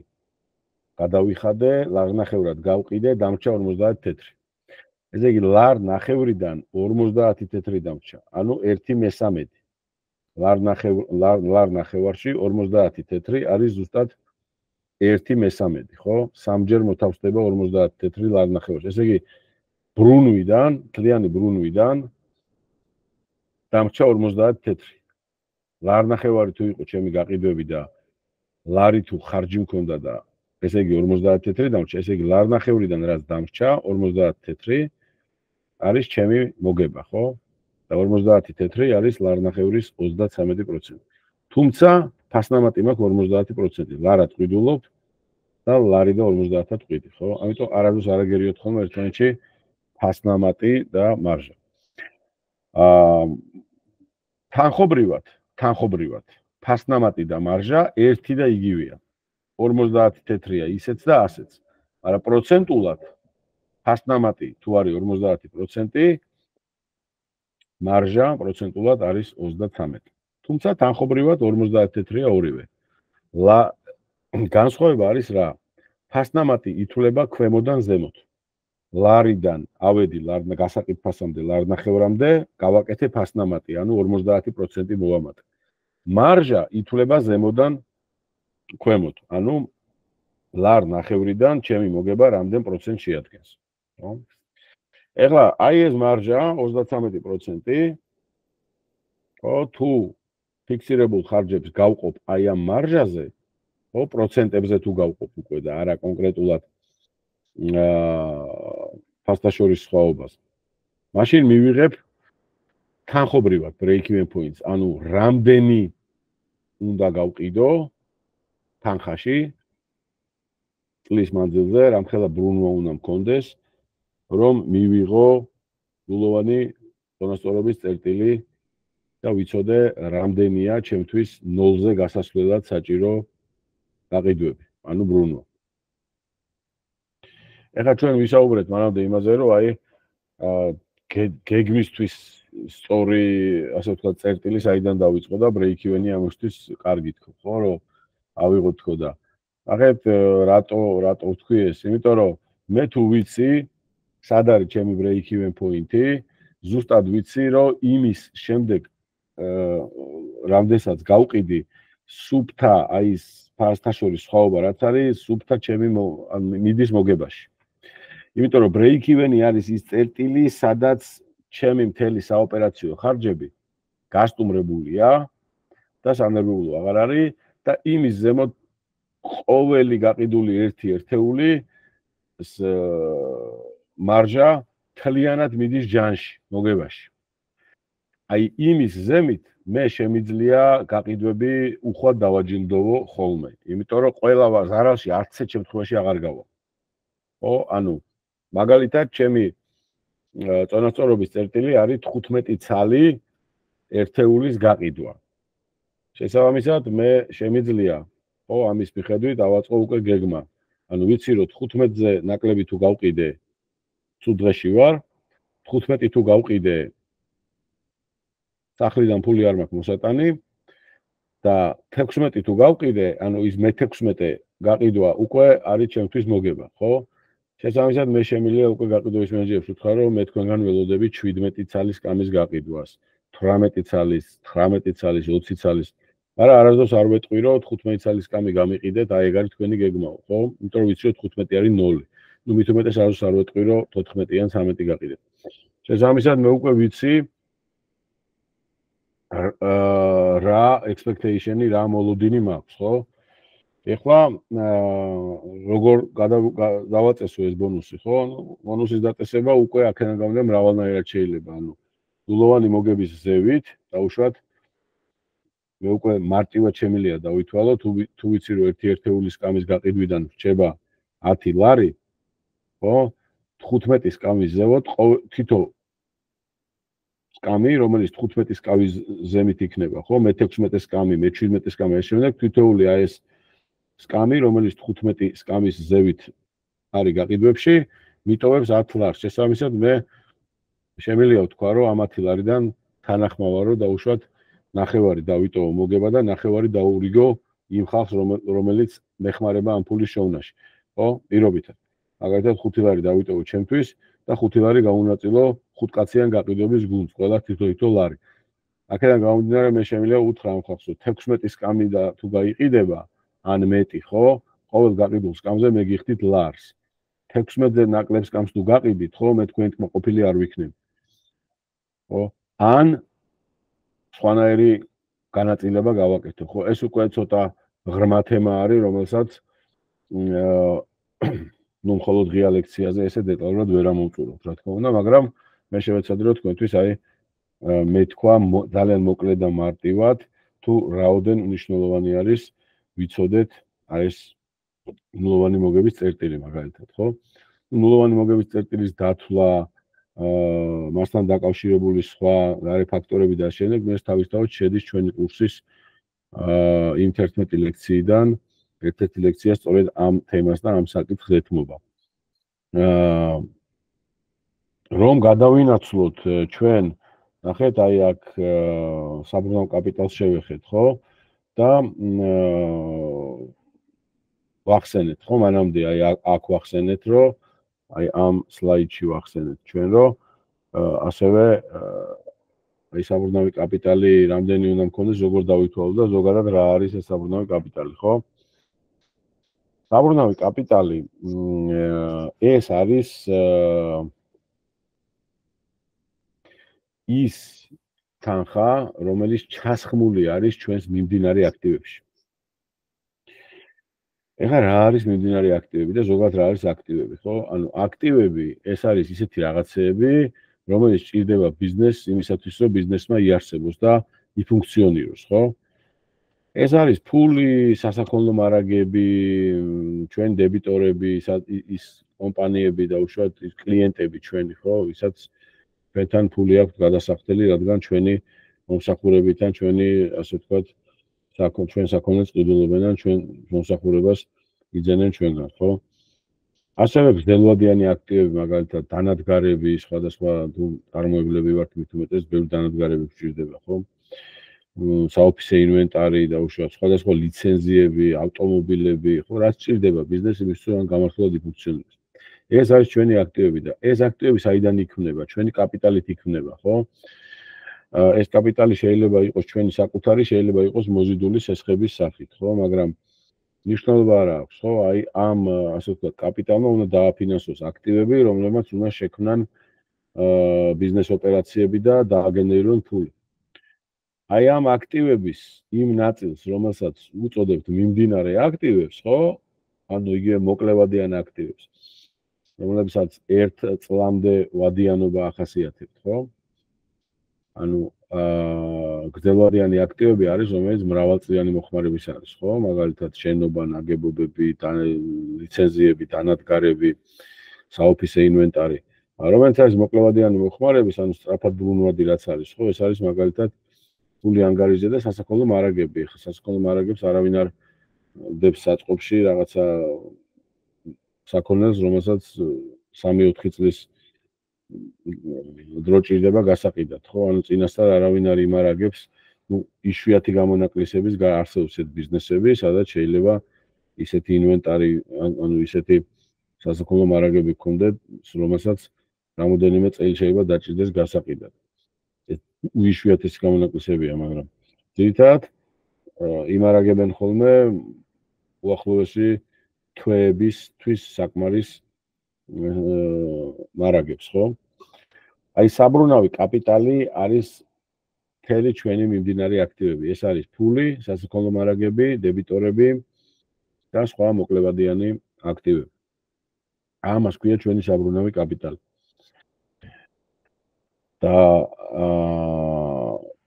გადავიხადე, ლარნახევრად გავყიდე, დამრჩა 50 თეთრი. ესე იგი ლარნახევრიდან 50 თეთრი დამრჩა, ანუ 1/3. ლარნახევარში 50 თეთრი არის ზუსტად 1/3, ხო? სამჯერ მოთავსდება 50 თეთრი ლარნახევარში. ესე იგი ბრუნვიდან, თლიანი ბრუნვიდან დამრჩა 50 თეთრი. ლარნახევარი თუ იყო ჩემი გაყიდვები და ლარი თუ ხარჯი მქონდა და ესე იგი 50 თეთრი დამრჩა, ესე იგი ლარნახევრიდან რაც დამრჩა 50 თეთრი არის ჩემი მოგება, ხო? და 50 თეთრი არის ლარნახევრის 33%. თუმცა ფასნამატი მაქვს 50%. ლარად ყიდულობ და ლარი და 50-5, ხო? ამიტომ არასდროს არ აგერიოთ ხოლმე ერთმანეთში ფასნამატი და მარჟა. თანხობრივად ფასნამატი და მარჟა ერთი და იგივეა. 50 თეთრია ისეც და ასეც. მაგრამ პროცენტულად ფასნამატი თუ არის 50%, მარჟა პროცენტულად არის 33. თუმცა თანხობრივად 50 თეთრია ორივე. განსხვავება არის რა? ფასნამატი ითვლება ქვემოდან ზემოთ. ლარიდან ავედი გასაყიდ ფასამდე ლარნახევრამდე გავაკეთე ფასნამატი, ანუ 50% მოვამატე. მარჟა ითვლება ზემოდან ქვემოთ, ანუ ლარნახევრიდან ჩემი მოგება რამდენ პროცენტს შეადგენს, ხო? ეხლა აი ეს მარჟა 33%, ხო, თუ ფიქსირებულ ხარჯებს გავყოფ აი ამ მარჟაზე, ხო, პროცენტებზე თუ გავყოფ უკვე და არა კონკრეტულად ფასტაშორის სხვაობას. მაშინ მივიღებ თანხობრივად break-even points, ანუ რამდენი უნდა გავყიდო თანხაში წლის მანძილზე, რამხელა ბრუნვა უნდა მქონდეს, რომ მივიღო გულოვანი წონასწორობის წერტილი და ვიცოდე რამდენია ჩემთვის ნოლზე გასასვლელად საჭირო გაყიდვები, ანუ ბრუნვა. ეხლა ჩვენ ვისაუბრეთ მანამდე იმაზე, რომ აი გეგმისთვის სწორი, ასე ვთქვათ, წერტილი საიდან დავიწყო და break-even-ი ამისთვის კარგი თქო, ხო, რომ ავიღოთ თქო და ახეთ რატო ვთქვი ეს? იმიტომ რომ მე თუ ვიცი, სად არის ჩემი break-even point-ი, ზუსტად ვიცი, რომ იმის შემდეგ რამდენსაც გავყიდი სუბთა აი ეს ფასტაშორის სხვაობა რაც არის, სუბთა ჩემი მიდის მოგებაში. იმიტომ რომ break-even-ი არის ის წერტილი, სადაც ჩემი მთელი საოპერაციო ხარჯები გასტუმრებულია და სანერვიულო აღარ არის და იმის ზემოთ ყოველი გაყიდული ერთი ერთეული მარჟა თლიანად მიდის ჯანში, მოგებაში. აი იმის ზემით მე შემიძლია გაყიდვები უხვად დავაჯილდოვო ხოლმე, იმიტომ რომ ყველა ზარალში 10 შემთხვევაში აღარ გავა. ხო, ანუ მაგალითად ჩემი წონასწორობის წერტილი არის 15 ცალი ერთეულის გაყიდვა. შესაბამისად მე შემიძლია, ხო, ამის მიხედვით დავაწყო უკვე გეგმა. ანუ ვიცი რომ 15-ზე ნაკლები თუ გავყიდე, ცუდ დღეში ვარ, 15 თუ გავყიდე, სახლიდან ფული არ მაქვს მოსატანი და 16 თუ გავყიდე, ანუ ის მე-16 გაყიდვა უკვე არის ჩემთვის მოგება, ხო? შესაბამისად მე შემიძლია უკვე გაყიდვების მენეჯერებს ვთქვა, რომ მე თქვენგან ველოდები 17 ცალის კამის გაყიდვას, 18 ცალის, 19 ცალის, 20 ცალის. მაგრამ არასდროს არ ვეტყვი, რომ 15 ცალის კამი გამიყიდეთ, აი ეგ არის თქვენი გეგმაო, ხო? იმიტომ რომ ვიცი, რომ 15 არის 0. ნუ მით უმეტეს არასდროს არ ვეტყვი, რომ 14-ან 13 გაყიდეთ. შესაბამისად მე უკვე ვიცი რა expectation-ი, რა მოლოდინი მაქვს, ხო? ეხლა როგორ დავაწესო ეს ბონუსი, ხო? ბონუსის დაწესება უკვე აქედან გამომდინარე მრავალნაირად შეიძლება, ანუ გულოვანი მოგების ზევით, დაუშვათ მე უკვე მარტივად შემიძლია დავითვალო, თუ ვიცი რომ ერთი ერთეულის კამის გაყიდვიდან რჩება 10 ლარი, ხო? 15-ის კამის ზევოთ თითო კამი, რომელიც 15-ის კამის ზემით იქნება, ხო? მე-16-ის კამი, მე-17-ის კამი, ეს შემდეგ თითოეული აი ეს სკამი, რომელიც 15 სკამის ზევით არის გაყიდვებში, მიტოვებს 10 ლარს. შესაბამისად მე შემიძლია ვთქვა, რომ ამ 10 ლარიდან თანახმავა რომ დაუშვათ ნახევარი დავიტოვო მოგება და ნახევარი დაურიგო იმ ხალხს, რომელიც მეხმარება ამ ფულის შოვნაში. ხო? პირობითად. მაგალითად 5 ლარი დავიტოვო ჩემთვის და 5 ლარი გავუნაწილო 5 კაციან გაყიდვების გუნდს, ყველა თითო ლარი. აქედან გამომდინარე მე შემიძლია უთხრა ამ ხალხს, რომ 16 სკამი და თუ გაიყიდება ან მეტი, ხო? ყოველ გაყიდულ სკამზე მე გიხდით ლარს. 16-ზე ნაკლებ სკამს თუ გაყიდით, ხო, მე თქვენ ყოფილი არ ვიქნები. ხო? ან სხვანაირი განაწილება გავაკეთო, ხო? ეს უკვე ცოტა ღრმა თემა არის, რომელსაც ნუ მხოლოდ ღია ლექციაზე ესე დეტალურად ვერ ამოვწურავთ, რა თქმა უნდა, მაგრამ მე შევეცადე რომ თქვენთვის აი მე თქვა ძალიან მოკლედ და მარტივად თუ რაოდენ მნიშვნელოვანი არის ვიცოდეთ აი ეს ნულოვანი მოგების წერტილი მაგალითად, ხო? ნულოვანი მოგების წერტილის დათვლა, მასთან დაკავშირებული სხვა გარე ფაქტორები და შემდეგ მე თავისთავად შედის ჩვენი კურსის იმ 11 ლექციიდან, ერთ-ერთი ლექცია სწორედ ამ თემას და ამ საკითხს ეთმობა. რომ გადავინაცვლოთ ჩვენ, ნახეთ, აი აქ საბრუნავ კაპიტალს შევეხეთ, ხო? და ვახსენეთ, ხო, მანამდე აი აქ ვახსენეთ, რომ აი ამ სლაიდში ვახსენეთ ჩვენ, რომ ასევე აი საბრუნავი კაპიტალი რამდენი უნდა მქონდეს, როგორ დავითვალოთ და ზოგადად რა არის ეს საბრუნავი კაპიტალი, ხო? საბრუნავი კაპიტალი ეს არის ის თანხა, რომელიც ჩასხმული არის ჩვენს მიმდინარე აქტივებში. ეხლა რა არის მიმდინარე აქტივები და ზოგადად რა არის აქტივები, ხო? ანუ აქტივები ეს არის ისეთი რაღაცეები, რომელიც ჭირდება ბიზნესს იმისათვის, რომ ბიზნესმა იარსებოს და იფუნქციონიროს, ხო? ეს არის ფული, სასაქონლო მარაგები, ჩვენ დებიტორები, ის კომპანიები და უშუალოდ ის კლიენტები ჩვენი, ხო? ვისაც ჩვენთან ფული აქვს გადასახდელი, რადგან ჩვენი მომსახურებიდან ჩვენი, ასე ვთქვათ, ჩვენ საქონელს ყიდულობენ და ჩვენ მომსახურებას იძენენ ჩვენგან, ხო? ასევე გრძელვადიანი აქტივები, მაგალითად, დანადგარები, სხვადასხვა წარმოებლები ვართ, მით უმეტეს ბევრი დანადგარები გვჭირდება, ხო? საოფისე ინვენტარი და უშუალოდ სხვადასხვა ლიცენზიები, ავტომობილები, ხო, რაც ჭირდება ბიზნესს იმისთვის, რომ გამართულად იფუნქციონიროს. ეს არის ჩვენი აქტივები და ეს აქტივები საიდან იქმნება? ჩვენი კაპიტალით იქმნება, ხო? ეს კაპიტალი შეიძლება იყოს ჩვენი საკუთარი, შეიძლება იყოს მოზიდული სესხების სახით, ხო, მაგრამ ნიშნულობა არ აქვს, ხო? აი ამ ასე ვთქვათ, კაპიტალმა უნდა დააფინანსოს აქტივები, რომლებმაც უნდა შექმნან ბიზნეს ოპერაციები და დააგენერირონ ფული. აი ამ აქტივების იმ ნაწილს, რომელსაც უწოდებთ მიმდინარე აქტივებს, ხო? ანუ იგივე მოკლევადიან აქტივებს, რომლებსაც 1 წლამდე ვადიანობა ახასიათებთ, ხო? ანუ გრძელვადიანი აქტივები არის, რომელიც მრავალწლიანი მოხმარების არის, ხო? მაგალითად, შენობა, ნაგებობები, ლიცენზიები, დანადგარები, საოფისე ინვენტარი. რომელიც არის მოკლევადიანი მოხმარების, ანუ სწრაფად ბრუნვადი რაც არის, ხო? ეს არის მაგალითად ფული ანგარიზე და სასაქონლო მარაგები. ხა სასაქონლო მარაგებს არავინ არ დებს საწყობში რაღაცა საქონელს, რომელსაც 3-4 წლის დრო ჭირდება გასაყიდად, ხო? ანუ წინასწარ არავინ არ იმარაგებს, ну, იშვიათი გამონაკლისების არსებობს ეს ბიზნესები, სადაც შეიძლება ისეთი ინვენტარი, ანუ ისეთი სასაქონლო მარაგები გქონდეთ, რომელსაც რამოდენიმე წელი შეიძლება დაჭირდეს გასაყიდად. ეს იშვიათი გამონაკლისებია, მაგრამ ძირითადად იმარაგებენ ხოლმე უახლოესი თვეებისთვის საკმარის მარაგებს, ხო? აი საბრუნავი კაპიტალი არის მთელი ჩვენი მიმდინარე აქტივები. ეს არის ფული, სასაქონლო მარაგები, დებიტორები და სხვა მოკლევადიანი აქტივები. ამას ქვია ჩვენი საბრუნავი კაპიტალი. და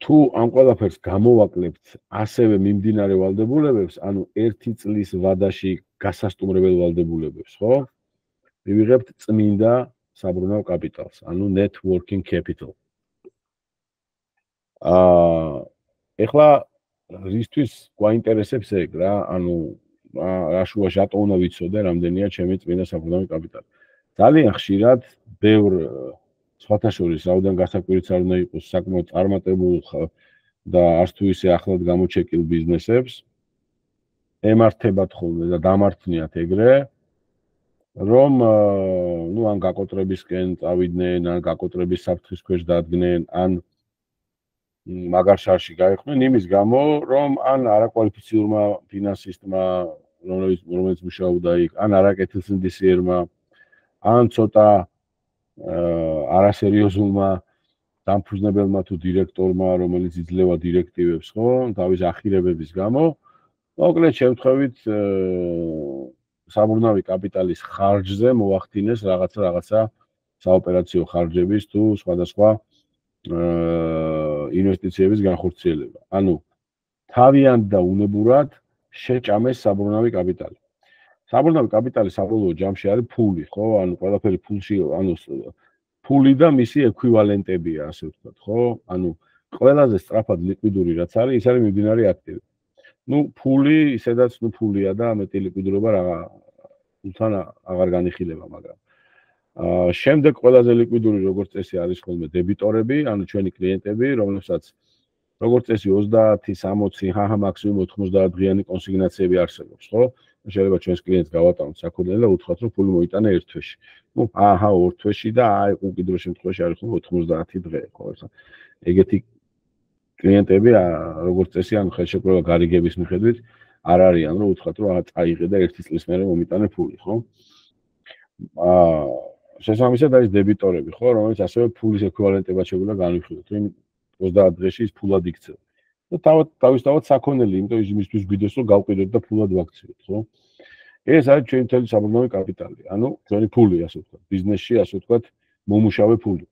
თუ ამ ყველაფერს გამოვაკლებთ ასევე მიმდინარე ვალდებულებებს, ანუ 1 წლის ვადაში გასასტუმრებელ ვალდებულებებს, ხო? მივიღებთ წმინდა საბრუნავ კაპიტალს, ანუ net working capital. ეხლა რისთვის გვაინტერესებს ეგ რა, ანუ რა შუაში რატო უნდა ვიცოდე, რამდენია ჩემი წმინდა საბრუნავი კაპიტალი. ძალიან ხშირად ბევრ სხვათა შორის რაოდენ გასაკვირიც არ უნდა იყოს საკმაოდ წარმატებულ და არც თუ ისე ახლად გამოჩეკილ ბიზნესებს ემართებათ ხოლმე და დამართნიათ ეგრე, რომ ნუ ან გაკოტრებისკენ წავიდნენ, ან გაკოტრების საფრთხის ქვეშ დადგნენ, ან მაგარ შარში გაიხდნენ იმის გამო, რომ ან არაკვალიფიცირებულმა ფინანსისტმა, რომელიც მუშაობდა იქ, ან არაკეთილსინდისიერმა, ან ცოტა არასერიოზულმა დამფუძნებელმა თუ დირექტორმა, რომელიც იძლევა დირექტივებს, ხო, თავის ახირებების გამო, მოკლედ შემთხვევით საბრუნავი კაპიტალის ხარჯზე მოახდინეს რაღაცა საოპერაციო ხარჯების თუ სხვადასხვა ინვესტიციების განხორციელება. ანუ თავიანთ და უნებურად შეჭამეს საბრუნავი კაპიტალი. საბრუნავი კაპიტალი საბოლოო ჯამში არის ფული, ხო? ანუ ყველაფერი ფულში, ანუ ფული და მისი ექვივალენტებია, ასე ვთქვათ, ხო? ანუ ყველაზე სწრაფად ლიკვიდური რაც არის, ის არის მიმდინარე აქტივი. ფული, ისედაც ფულია და მეტი ლიკვიდურობა თან აღარ განიხილება, მაგრამ შემდეგ ყველაზე ლიკვიდური როგორც წესი არის ხოლმე დებიტორები, ანუ ჩვენი კლიენტები, რომლებსაც როგორც წესი 30-60 მაქსიმუმ 90 დღიანი კონსიგნაციები არსებობს, ხო? შეიძლება ჩვენს კლიენტს გავატანოთ საქონელი და უთხრათ, რომ ფული მოიტანა ერთ თვეში. ორ თვეში და უკიდრო შემთხვევაში არის ხოლმე 90 დღე, ხო? ეგეთი კლიენტები როგორც წესი ანუ ხელშეკრულება გარიგების მიხედვით არ არიან, რომ უთხრათ, რომ წაიღე და ერთი წლის მერე მომიტანე ფული, ხო? შესაბამისად არის დებიტორები, ხო, რომელიც ასევე ფულის ექვივალენტებად შეგვიძლია განვიხილოთ, რომ 30 დღეში ის ფულად იქცევა. და თავისთავად საქონელი, იმიტომ იმისთვის გვიდეს, რომ გავყიდოთ და ფულად ვაქციოთ, ხო? ეს არის ჩვენი მთელი საბრუნავი კაპიტალი, ანუ ჩვენი ფული, ასე ვთქვათ, ბიზნესში, ასე ვთქვათ, მომუშავე ფული.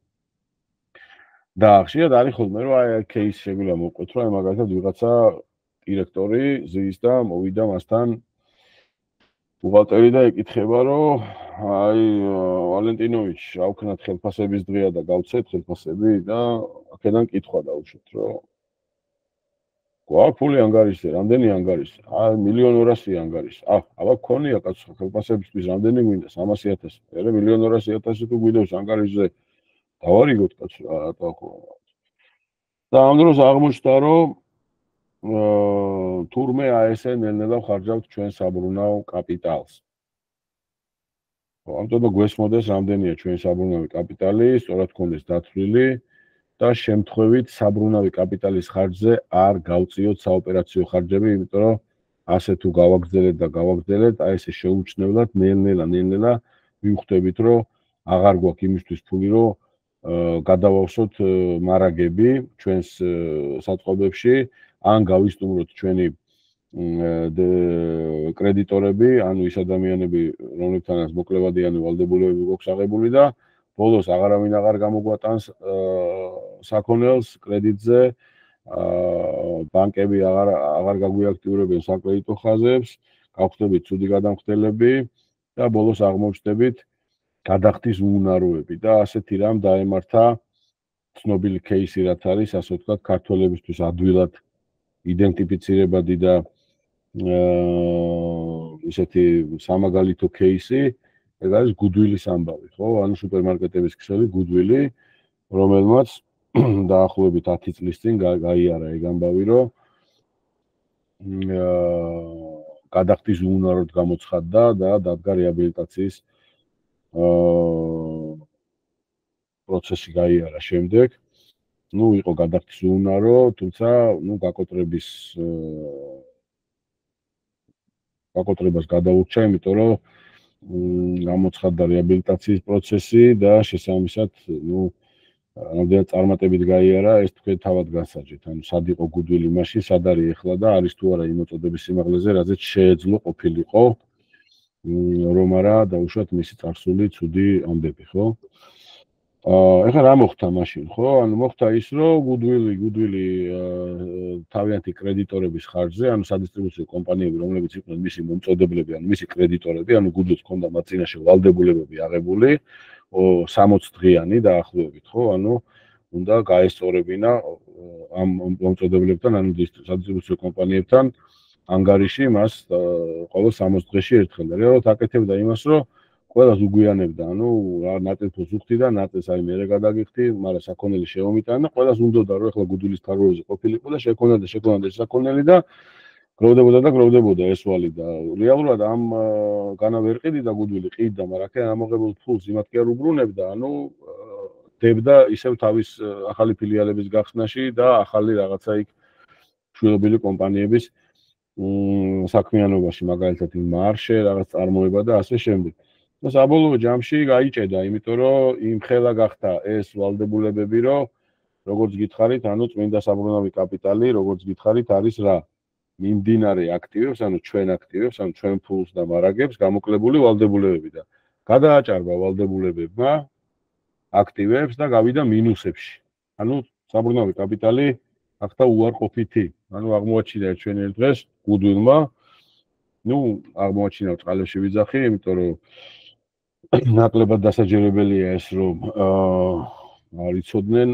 და ხშირად არის ხოლმე, რომ აი кейს შეგვიძლია მოვყვეთ, რომ მაგალითად ვიღაცა დირექტორი ზის და მოვიდა მასთან ბუღალტერი და ეკითხება, რომ აი ვალენტინოვიჩ, რა ვქნათ ხელფასების დღეა და გავცეთ ხელფასები და აქედან კითხვა დაუშვით, რომ გვაქვს ფული ანგარიშზე, რამდენი ანგარიშზე? 1,200,000 ანგარიშზე. აბა გქონია კაცო ხელფასებისთვის რამდენი გვინდა? 300,000. მერე 1,200,000 თუ გვიდევს ანგარიშზე დავარიგოთ კაცო რატო ხო? და ამ დროს აღმოჩნდა, რომ თურმე ესე ნელ-ნელა ვხარჯავთ ჩვენ საბრუნავ კაპიტალს. ამიტომ გვესმოდეს რამდენია ჩვენი საბრუნავი კაპიტალი, სწორად გქონდეს დათვლილი და შემთხვევით საბრუნავი კაპიტალის ხარჯზე არ გავწიოთ საოპერაციო ხარჯები, იმიტომ რომ ასე თუ გავაგრძელეთ, აი ესე შეუჩნევლად ნელ-ნელა ვივხვდებით, რომ აღარ გვაქვს იმისთვის ფული, რომ გადავავსოთ მარაგები ჩვენს საწყობებში, ან გავისტუმროთ ჩვენი კრედიტორები, ანუ ის ადამიანები, რომლებთანაც მოკლებადიანი ვალდებულებები გვაქვს აღებული და ბოლოს აღარავინ აღარ გამოგვატანს საქონელს კრედიტზე, ბანკები აღარ გაგვიაქტიურებენ საკრედიტო ხაზებს, გავხდებით ცუდი გადამხდელები და ბოლოს აღმოჩნდებით გადახდის უუნაროები და ასეთი რამ დაემართა ცნობილი кейსი რაც არის, ასე ვთქვათ, ქართველებისთვის ადვილად იდენტიფიცირებადი და ისეთი სამაგალითო кейსი, ეს არის გუდვილის ამბავი, ხო? ანუ სუპერმარკეტების ქსელი გუდვილი, რომელმაც დაახლოებით 10 წლის წინ გაიარა ეგ ამბავი, რომ გადახდის უუნაროდ გამოცხადდა და დადგა რეაბილიტაციის პროცესი გაიარა შემდეგ. იყო გადახდის უუნარო, თუმცა გაკოტრებას გადაურჩა, იმიტომ რომ გამოცხადდა რეაბილიტაციის პროცესი და შესაბამისად, რამდენად წარმატებით გაიარა, ეს თქვენ თავად განსაჯეთ. ანუ სად იყო გუდვილი მაშინ, სად არის ეხლა და არის თუ არა იმ მოწოდების სიმაღლეზე, რაზეც შეეძლო ყოფილიყო, რომ არა დაუშვათ მისი წარსული ცუდი ამბები, ხო? ეხლა რა მოხდა მაშინ, ხო? ანუ მოხდა ის, რომ გუდვილი თავიანთი კრედიტორების ხარჯზე, ანუ სადისტრიბუციო კომპანიები, რომლებიც იყვნენ მისი მომწოდებლები, ანუ მისი კრედიტორები, ანუ გუდვილს ჰქონდა მათ წინაშე ვალდებულებები აღებული 60 დღიანი დაახლოებით, ხო? ანუ უნდა გაესწორებინა ამ მომწოდებლებთან, ანუ სადისტრიბუციო კომპანიებთან ანგარიში მას ყოველ 60 დღეში ერთხელ. რეალურად აკეთებდა იმას, რომ ყველას უგვიანებდა, ანუ რა ნაწილს უხდი და ნაწილს აი მერე გადაგიხდი, მაგრამ საქონელი შემომიტანა და ყველას უნდოდა, რომ ახლა გუდვილის თაროებზე ყოფილიყო და შექონოდა საქონელი და გროვდებოდა ესვალი და რეალურად ამ განა ვერ ყიდდა გუდვილი ყიდდა, მაგრამ აქ ამოღებულ ფულს იმათ კი არ უბრუნებდა, ანუ დებდა ისევ თავის ახალი ფილიალების გახსნაში და ახალი რაღაცა იქ შვილობილი კომპანიების საქმიანობაში, მაგალითად მარშე, რაღაც წარმოება და ასე შემდეგ. და საბოლოო ჯამში გაიჭედა, იმიტომ რომ იმხელა გახდა ეს ვალდებულებები, რომ როგორც გითხარით, ანუ წმინდა საბრუნავი კაპიტალი, როგორც გითხარით, არის რა? მიმდინარე აქტივებს, ანუ ჩვენ აქტივებს, ანუ ჩვენ ფულს და მარაგებს გამოკლებული ვალდებულებები და გადააჭარბა ვალდებულებებმა აქტივებს და გავიდა მინუსებში. ანუ საბრუნავი კაპიტალი გახდა უარყოფითი. ანუ აღმოაჩინა ჩვენ ერთ დღეს გუდვილმა ნუ აღმოაჩინა წყალებში ვიძახი, იმიტომ რომ ნაკლებად დასაჯერებელია ეს რომ არ იცოდნენ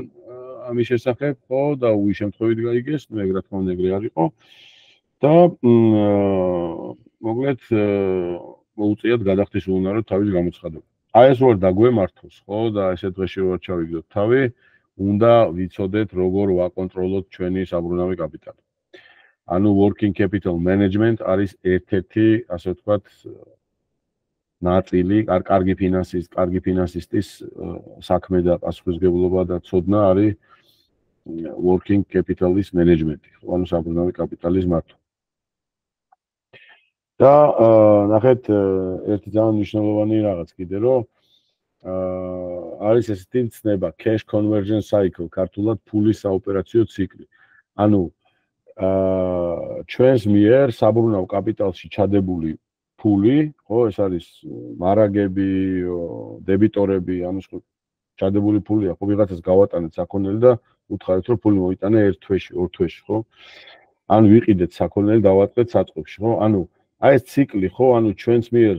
ამის შესახებ, ხო და უი შემთხვევით გაიგეს, მე რა თქმა უნდა ეგრე არ იყო და მოკლედ მოუწიათ გადახდის უნარო თავის გამოცხადება. აი ეს ვარ დაგვემართოს, ხო და ესე დღეში ვარ ჩავიგდოთ თავი, უნდა ვიცოდეთ როგორ ვაკონტროლოთ ჩვენი საბრუნავი კაპიტალი. ანუ working capital management არის ერთ-ერთი, ასე ვთქვათ, ნაწილი, კარგი ფინანსისტის საქმე და პასუხისმგებლობა და ცოდნა არის working capital-ის management-ი, ანუ საბრუნავი კაპიტალის მართვა. და ნახეთ ერთი ძალიან მნიშვნელოვანი რაღაც კიდე რომ არის ესეთი ცნება cash conversion cycle, ქართულად ფულის საოპერაციო ციკლი. ანუ ჩვენს მიერ საბრუნავ კაპიტალში ჩადებული ფული, ხო, ეს არის მარაგები, დებიტორები, ანუ ჩადებული ფულია, ხო, ვიღაცას გავატანეთ საქონელი და უთხარით რომ ფული მოიტანა ერთ თვეში, ორ თვეში, ხო? ანუ ვიყიდეთ საქონელი, დავატყეთ საწყობში, ხო? ანუ აი ეს ციკლი, ხო, ანუ ჩვენს მიერ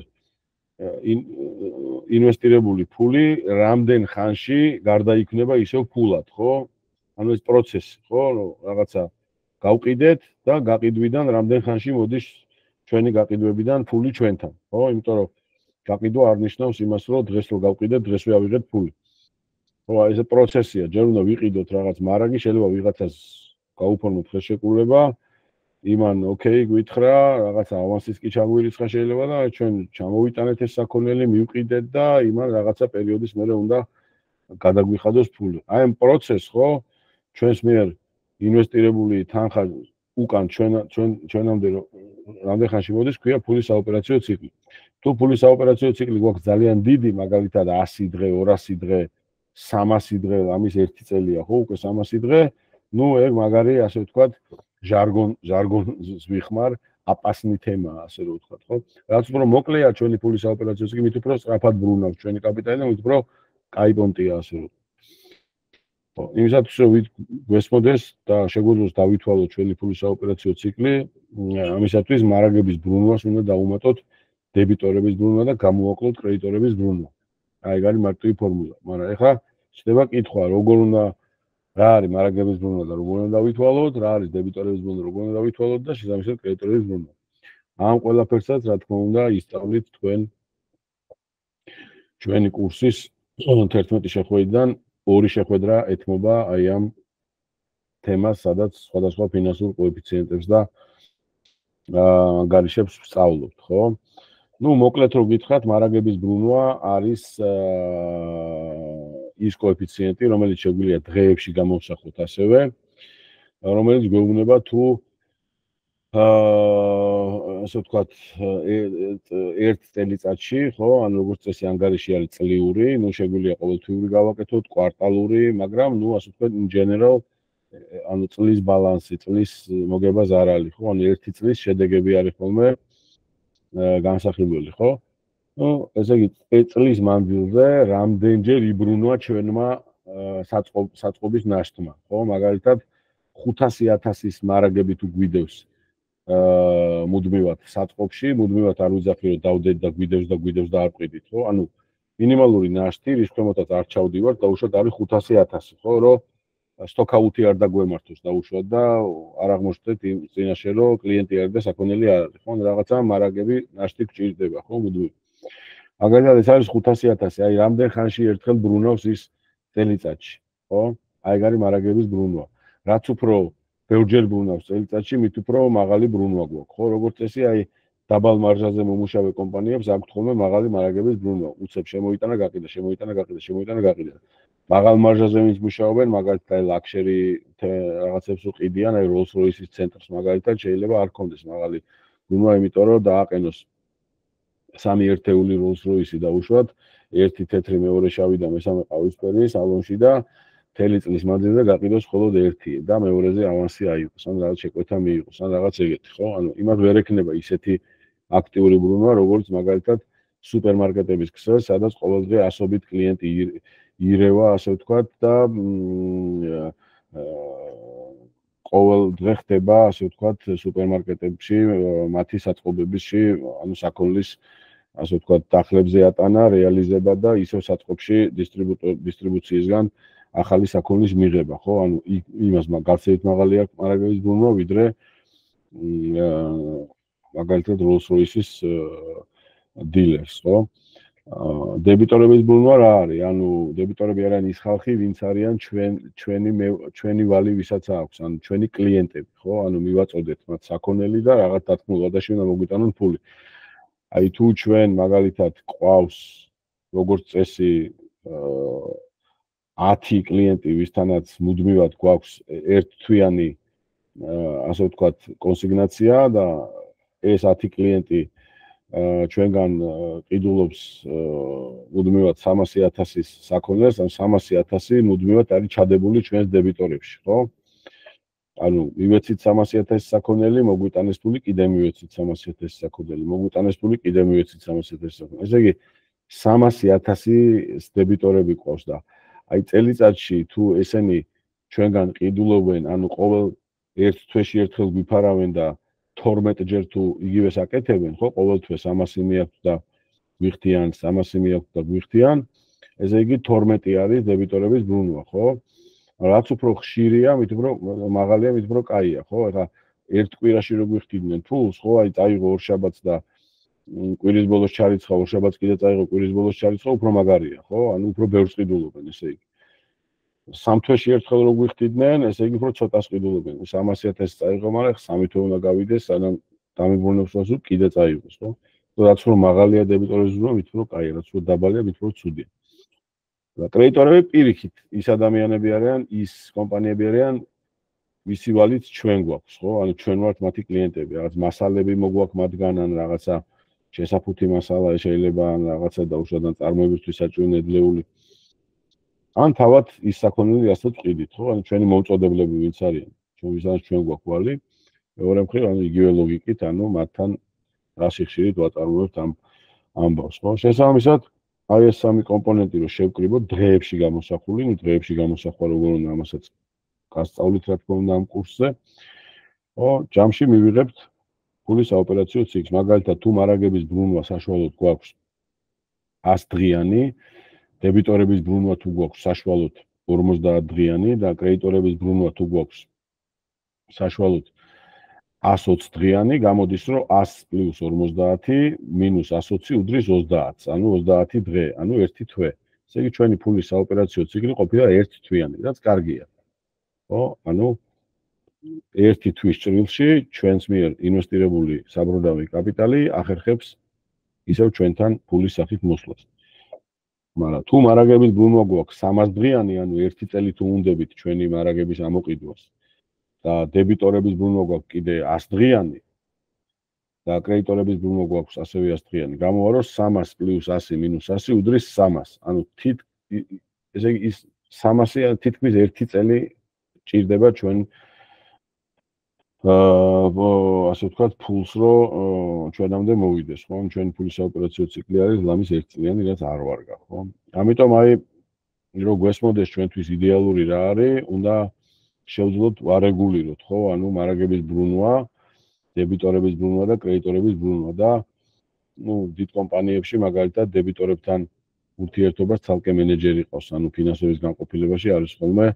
ინვესტირებული ფული რამდენ ხანში გარდაიქმნება ისევ ფულად, ხო? ანუ ეს პროცესი, ხო, რაღაცა გავყიდეთ და გაყიდვიდან რამდენ ხანში მოდის ჩვენი გაყიდვებიდან ფული ჩვენთან, ხო? იმიტომ რომ გაყიდვა არ ნიშნავს იმას, რომ დღეს რო გავყიდეთ, დღესვე ავიღეთ ფული. ხო, აი ეს პროცესია, ჯერ უნდა ვიყიდოთ რაღაც მარაგი, შეიძლება ვიღაცას გაუფორმოთ ხელშეკრულება, იმან ოკეი გვითხრა, რაღაცა ავანსის კი ჩაგვირიცხა შეიძლება და ჩვენ ჩამოვიტანეთ ეს საქონელი, მივყიდეთ და იმან რაღაცა პერიოდის მერე უნდა გადაგვიხადოს ფული. აი ამ პროცესს, ხო, ჩვენს მიერ ინვესტირებული თანხა უკან ჩვენამდე რამდენ ხანში მოდის, ქვია ფულის საოპერაციო ციკლი. თუ ფულის საოპერაციო ციკლი გვაქვს ძალიან დიდი, მაგალითად 100 დღე, 200 დღე, 300 დღე, ამის ერთი წელია, ხო, უკვე 300 დღე, ნუ ეგ მაგარი, ასე ვთქვათ, ჟარგონს ვიხმარ, აპასნი თემაა, ასე რომ ვთქვათ, ხო? რაც უფრო მოკლეა ჩვენი ფულის საოპერაციო ციკლი, მით უფრო სწრაფად ბრუნავს ჩვენი კაპიტალი და მით უფრო კაი პონტია, ასე რომ. იმისათვის რომ გვესმოდეს და შეგვიძლიოს დავითვალოთ ჩვენი ფულის საოპერაციო ციკლი, ამისათვის მარაგების ბრუნვას უნდა დავუმატოთ დებიტორების ბრუნვა და გამოვაკლოთ კრედიტორების ბრუნვა. აი, ეგ არის მარტივი ფორმულა, მაგრამ ეხლა შეიძლება კითხვა, როგორ უნდა რა არის მარაგების ბრუნვა და როგორ უნდა დავითვალოთ, რა არის დებიტორების ბრუნვა, როგორ უნდა დავითვალოთ და შესაბამისად კრედიტორების ბრუნვა. ამ ყველაფერსაც, რა თქმა უნდა, ისწავლით ჩვენი კურსის 11 შეხვედრიდან 2 შეხვედრა ეთმობა აი ამ თემას, სადაც სხვადასხვა ფინანსურ კოეფიციენტებს და ანგარიშებს ვსწავლობთ, ხო? ნუ მოკლედ რომ გითხრათ, მარაგების ბრუნვა არის ის კოეფიციენტი, რომელიც შეგვიძლია დღეებში გამოვსახოთ ასევე, რომელიც გვეუბნება თუ ასე ვთქვათ, ერთ წელიწადში, ხო, ანუ როგორც წესი ანგარიში არის წლიური, ნუ შეგვიძლია ყოველთვიური გავაკეთოთ, კვარტალური, მაგრამ ნუ ასე ვთქვათ, in general, ანუ წლის ბალანსი, წლის მოგებას არ არის, ხო, ანუ ერთი წლის შედეგები არის ხოლმე განსახილველი, ხო? ნუ ესე იგი, წლის მანძილზე რამდენჯერ იბრუნვა ჩვენმა საწყობის ნაშთმა, ხო? მაგალითად 500,000-ის მარაგები თუ გვიდევს მუდმივად საწყობში, მუდმივად არ ვიძახი რომ დავდეთ და გვიდევს და არ ყიდით, ხო? ანუ მინიმალური ნაშთი, რის ქვემოთაც არ ჩავდივართ, დაუშვათ არის 500,000, ხო, რომ სტოკაუთი არ დაგვემართოს დაუშვათ და არ აღმოჩნდეთ იმ წინაშე რომ კლიენტი არის და საქონელი არ არის, ხო? რაღაცა მარაგები ნაშთი გჭირდება, ხო, მუდმივად. მაგალითად ეს არის 500,000, აი რამდენ ხანში ერთხელ ბრუნავს ის წელიწადში, ხო? აი ეგ არის მარაგების ბრუნვა. რაც უფრო ბევრჯერ ბრუნავს წელიწადში, მით უფრო მაღალი ბრუნვა გვაქვს, ხო? როგორც წესი, აი დაბალ მარჟაზე მომუშავე კომპანიებს აქვთ ხოლმე მაღალი მარაგების ბრუნვა. უცებ შემოიტანა, გაყიდა. მაღალ მარჟაზე ვინც მუშაობენ, მაგალითად ლაქშერი რაღაცებს უყიდიან, აი Rolls-Royce-ის ცენტრს მაგალითად შეიძლება არ ქონდეს მაღალი ბრუნვა, იმიტომ რომ დააყენოს 3 ერთეული Rolls-Royce დაუშვათ, ერთი თეთრი, მეორე შავი და მესამე ყავისფერი სალონში და მთელი წლის მანძილზე გაყიდოს მხოლოდ ერთი და მეორეზე ავანსი აიღოს, ან რაღაც შეკვეთა მიიღოს, ან რაღაც ეგეთი, ხო? ანუ იმას ვერ ექნება ისეთი აქტიური ბრუნვა, როგორც მაგალითად სუპერმარკეტების ქსელს, სადაც ყოველდღე ასობით კლიენტი ირევა, ასე ვთქვათ, და ყოველ დღე ხდება, ასე ვთქვათ, სუპერმარკეტებში, მათი საწყობებში, ანუ საქონლის, ასე ვთქვათ, დახლებზე ატანა, რეალიზება და ისევ საწყობში დისტრიბუციისგან ახალი საქონლის მიღება, ხო? ანუ იმას გაცილებით მაღალი აქვს მარაგების ბრუნვა, ვიდრე მაგალითად Rolls-Royce-ის დილერს, ხო? დებიტორების ბრუნვა რა არის? ანუ დებიტორები არიან ის ხალხი, ვინც არიან ჩვენი ვალი, ვისაც აქვს, ანუ ჩვენი კლიენტები, ხო? ანუ მივაწოდეთ მათ საქონელი და რაღაც დათქმულ ვადაში უნდა მოგვიტანონ ფული. აი თუ ჩვენ მაგალითად ყავს როგორც წესი 10 კლიენტი, ვისთანაც მუდმივად გვაქვს ერთთვიანი ასე ვთქვათ, კონსიგნაცია და ეს 10 კლიენტი ჩვენგან ყიდულობს მუდმივად 300,000-ის საქონელს, ან 300,000 მუდმივად არის ჩადებული ჩვენს დებიტორებში, ხო? ანუ მივეცით 300,000 საქონელი, მოგვიტანეს ფული, კიდე მივეცით 300,000 საქონელი, მოგვიტანეს ფული, კიდე მივეცით 300,000 საქონელი. ესე იგი 300,000 დებიტორები ყავს და აი წელიწადში თუ ესენი ჩვენგან ყიდულობენ, ანუ ყოველ ერთ თვეში ერთხელ გვიფარავენ და 12 ჯერ თუ იგივეს აკეთებენ, ხო, ყოველ თვე 300 მიაქვთ და გვიხდიან, 300 მიაქვთ და გვიხდიან, ესე იგი 12 არის დებიტორების ბრუნვა, ხო? რაც უფრო ხშირია, მით უფრო მაღალია, მით უფრო კაია, ხო? ეხლა ერთ კვირაში რო გვიხდიდნენ ფულს, ხო, აი წაიღო ორშაბათს და კვირის ბოლოს ჩარიცხა, ორშაბათს კიდე წაიღო, კვირის ბოლოს ჩარიცხა, უფრო მაგარია, ხო? ანუ უფრო ბევრს ყიდულობენ, ესე იგი. სამ თვეში ერთხელ რო გვიხდიდნენ, ესე იგი უფრო ცოტას ყიდულობენ. 300,000 წაიღო, მაგრამ 3 თვე უნდა გავიდეს, სანამ დამიბრუნებს რასო კიდე წაიღოს, ხო? რაც უფრო მაღალია დებიტორების ბრუნვა, მით უფრო კაია, რაც უფრო დაბალია, მით უფრო ცუდია. და კრედიტორები პირიქით, ის ადამიანები არიან, ის კომპანიები არიან, ვისი ვალით ჩვენ გვაქვს, ხო? ანუ ჩვენ ვართ მათი კლიენტები, რაღაც მასალები მოგვაქვს მათგან, ან რაღაცა შესაფუთი მასალა შეიძლება, ან რაღაცა დაუშვათ წარმოებისთვის საჭირო ნედლეული. ან თავად ის საქონელი რასაც ყიდით, ხო? ანუ ჩვენი მოუწოდებლები ვინც არიან, ვისაც ჩვენ გვაქვს ვალი, მეორე მხრივ, ანუ იგივე ლოგიკით, ანუ მათთან რა სიხშირით ვაწარმოებთ ამ ამბავს, ხო? შესაბამისად, აი ეს სამი კომპონენტი რო შევკრიბოთ დღეებში გამოსახული, ნუ დღეებში გამოსახვა როგორ უნდა ამასაც გასწავლით რა თქმა უნდა ამ კურსზე. ხო, ჯამში მივიღებთ ფულის საოპერაციო ციკლს. მაგალითად, თუ მარაგების ბრუნვა საშუალოდ გვაქვს 100 დღიანი, დებიტორების ბრუნვა თუ გვაქვს საშუალოდ 50 დღიანი და კრედიტორების ბრუნვა თუ გვაქვს საშუალოდ 120 დღიანი, გამოდის რომ 100 პლუს 50 მინუს 120 უდრის 30, ანუ 30 დღე, ანუ 1 თვე. ესე იგი ჩვენი ფულის საოპერაციო ციკლი ყოფილა 1 თვიანი, რაც კარგია. ხო, ანუ 1 თვის ჭრილში ჩვენს მიერ ინვესტირებული საბრუნავი კაპიტალი ახერხებს ისევ ჩვენთან ფულის სახით მოსვლას. მაგრამ თუ მარაგების ბრუნვა გვაქვს 300 დღიანი, ანუ 1 წელი თუ უნდებით ჩვენი მარაგების ამოყიდვას და დებიტორების ბრუნვა გვაქვს კიდე 100 დღიანი და კრედიტორების ბრუნვა გვაქვს ასევე 100 დღიანი, გამოვა რომ 300 პლუს 100 მინუს 100 უდრის 300. ანუ ესე იგი ის 300 თითქმის 1 წელი ჭირდება ჩვენ ასე ვთქვათ, ფულს რო ჩვენამდე მოვიდეს, ხო? ჩვენი ფულის საოპერაციო ციკლი არის ლამის 1 წლიანი, რაც არ ვარგა, ხო? ამიტომ აი რო გვესმოდეს ჩვენთვის იდეალური რა არის, უნდა შევძლოთ ვარეგულიროთ, ხო? ანუ მარაგების ბრუნვა, დებიტორების ბრუნვა და კრედიტორების ბრუნვა და ნუ დიდ კომპანიებში მაგალითად დებიტორებთან ურთიერთობას ცალკე მენეჯერი ყავს, ანუ ფინანსების განყოფილებაში არის ხოლმე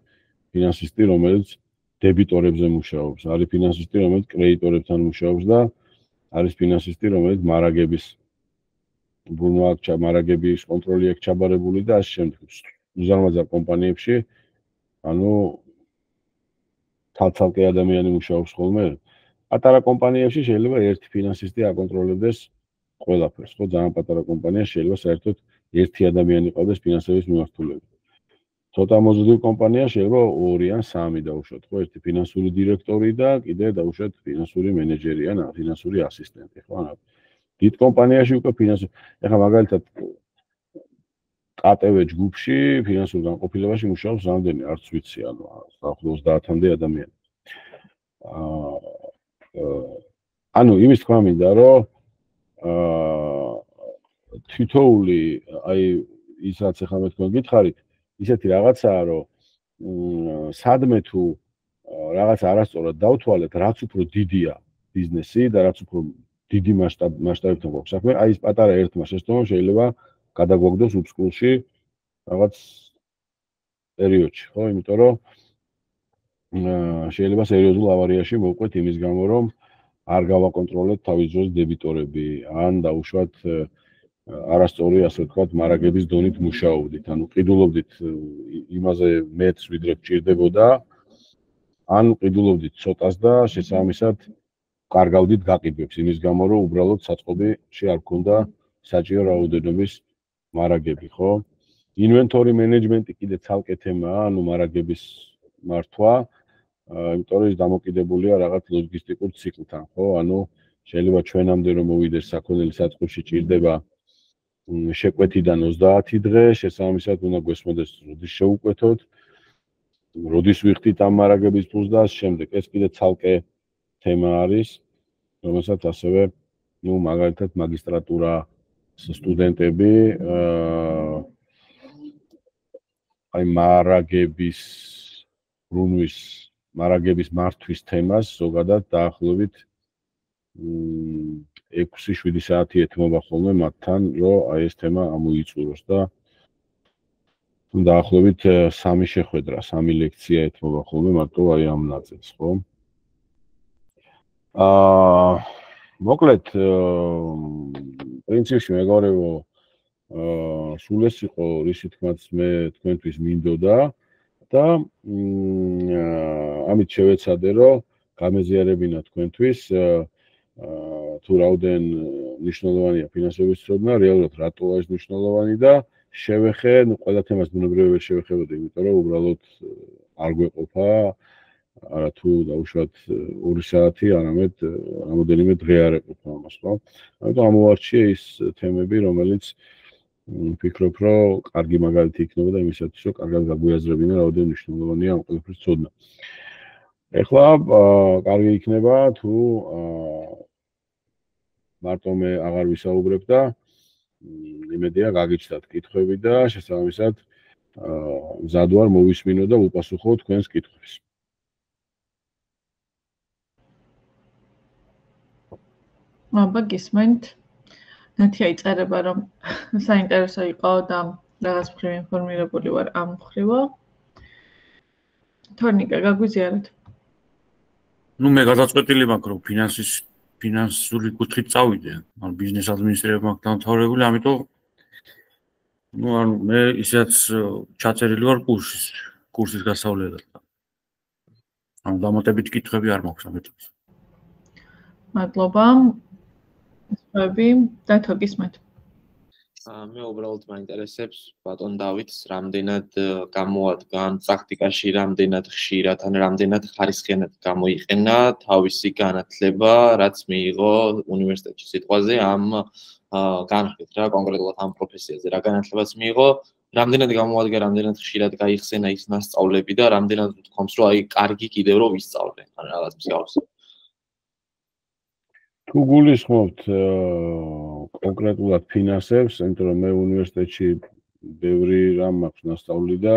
ფინანსისტი, რომელიც დებიტორებზე მუშაობს, არის ფინანსისტი, რომელიც კრედიტორებთან მუშაობს და არის ფინანსისტი, რომელიც მარაგების ბრუნვა, მარაგების კონტროლი აქვს ჩაბარებული და ასე შემდეგ. უზარმაზარ კომპანიებში, ანუ თალთალკე ადამიანი მუშაობს ხოლმე. პატარა კომპანიებში შეიძლება ერთი ფინანსისტი აკონტროლებდეს ყველაფერს, ხო? ძალიან პატარა კომპანია შეიძლება საერთოდ ერთი ადამიანი ყავდეს ფინანსების მიმართულებით. ცოტა მოზრდილ კომპანია შეიძლება 2 ან 3 დაუშვათ, ხო? ერთი ფინანსური დირექტორი და კიდე დაუშვათ ფინანსური მენეჯერი ან ფინანსური ასისტენტი, ხო? ანუ დიდ კომპანიაში უკვე ფინანსური, ეხლა მაგალითად ATV ჯგუფში ფინანსურ განყოფილებაში მუშაობს რამდენი, არც ვიცი, ანუ 30-მდე ადამიანი. ანუ იმის თქვა მინდა, რომ თითოეული აი ის რაც ახლა მე თქვენ გითხარით, ისეთი რაღაცაა, რომ სადმე თუ რაღაც არასწორად დავთვალეთ, რაც უფრო დიდია ბიზნესი და რაც უფრო დიდი მასშტაბებთან გვაქვს საქმე, აი ეს პატარა ერთმა შეცდომამ შეიძლება გადაგვაგდოს უბსკულში რაღაც პერიოდში, ხო? იმიტომ რომ შეიძლება სერიოზულ ავარიაში მოვყვეთ იმის გამო, რომ არ გავაკონტროლეთ თავის დროს დებიტორები, ან დაუშვათ არასწორი, ასე ვთქვათ, მარაგების დონით მუშაობდით, ანუ ყიდულობდით იმაზე მეტს, ვიდრე გჭირდებოდა, ან ყიდულობდით ცოტას და შესაბამისად კარგავდით გაყიდვებს, იმის გამო, რომ უბრალოდ საწყობში არ გქონდა საჭირო რაოდენობის მარაგები, ხო? ინვენტორი მენეჯმენტი კიდე ცალკე თემაა, ანუ მარაგების მართვა, იმიტომ რომ ის დამოკიდებულია რაღაც ლოგისტიკურ ციკლთან, ხო? ანუ შეიძლება ჩვენამდე რომ მოვიდეს საქონელი საწყობში ჭირდება შეკვეთიდან 30 დღე, შესაბამისად უნდა გვესმოდეს როდის შევუკვეთოთ, როდის ვიხდით ამ მარაგების ფულს და შემდეგ. ეს კიდე ცალკე თემა არის, რომელსაც ასევე, მაგალითად, მაგისტრატურა სტუდენტები აი მარაგების მართვის თემას ზოგადად დაახლოებით 6-7 საათი ეთმობა ხოლმე მათთან, რომ აი ეს თემა ამოიწუროს და დაახლოებით 3 შეხვედრა, 3 ლექცია ეთმობა ხოლმე მარტო აი ამ ნაწილს, ხო? მოკლედ, პრინციპში მეგობრებო, სულ ეს იყო, რისი თქმაც მე თქვენთვის მინდოდა და ამით შევეცადე, რომ გამეზიარებინა თქვენთვის თუ რაოდენ მნიშვნელოვანია ფინანსების ცოდნა, რეალურად რატოა ეს მნიშვნელოვანი და შევეხე, ყველა თემას ბუნებრივად ვერ შევეხებოდი, იმიტომ რომ უბრალოდ არ გვეყოფა, არა თუ დაუშვათ 2 საათი, არამედ რამოდენიმე დღე არ ეყოფა ამას, ხო? ამიტომ ამოვარჩიე ის თემები, რომელიც ვფიქრობ, რომ კარგი მაგალითი იქნება და იმისათვის, რომ კარგად გაგვიაზრებინა რაოდენ მნიშვნელოვანია ამ ყველაფრის ცოდნა. ეხლა კარგი იქნება თუ მარტო მე აღარ ვისაუბრებ და იმედია გაგიჩნდათ კითხვები და შესაბამისად მზად ვარ მოვისმინო და ვუპასუხო თქვენს კითხვებს. აბა გისმენთ. ნათია იწერება, რომ საინტერესო იყო და რაღაც მხრივ ინფორმირებული ვარ ამ მხრივო. თორნიკა, გაგვიზიარეთ. მე გადაწყვეტილი მაქვს, რომ ფინანსური კუთხით წავიდე, ან ბიზნეს ადმინისტრირება მაქვს დამთავრებული, ამიტომ მე ისედაც ჩაწერილი ვარ კურსის გასავლელად. ანუ დამატებით კითხვები არ მაქვს ამიტომ. მადლობა. სხვები და თუ გისმენთ. მე უბრალოდ მაინტერესებს ბატონ დავითს რამდენად გამოადგან პრაქტიკაში, რამდენად ხშირად ან რამდენად ხარისხიანად გამოიყენა თავისი განათლება, რაც მიიღო უნივერსიტეტში. სიტყვაზე ამ განხილეთ რა კონკრეტულად ამ პროფესიაზე რა განათლებაც მიიღო, რამდენად გამოადგა, რამდენად ხშირად გაიხსენა ის მასწავლები და რამდენად ვთქვამს, რომ აი კარგი კიდევ რომ ვისწავლე, ან რაღაც მსგავსი. თუ გულისხმობთ კონკრეტულად ფინანსებს, იმიტომ რომ მე უნივერსიტეტში ბევრი რამ მაქვს ნასწავლი და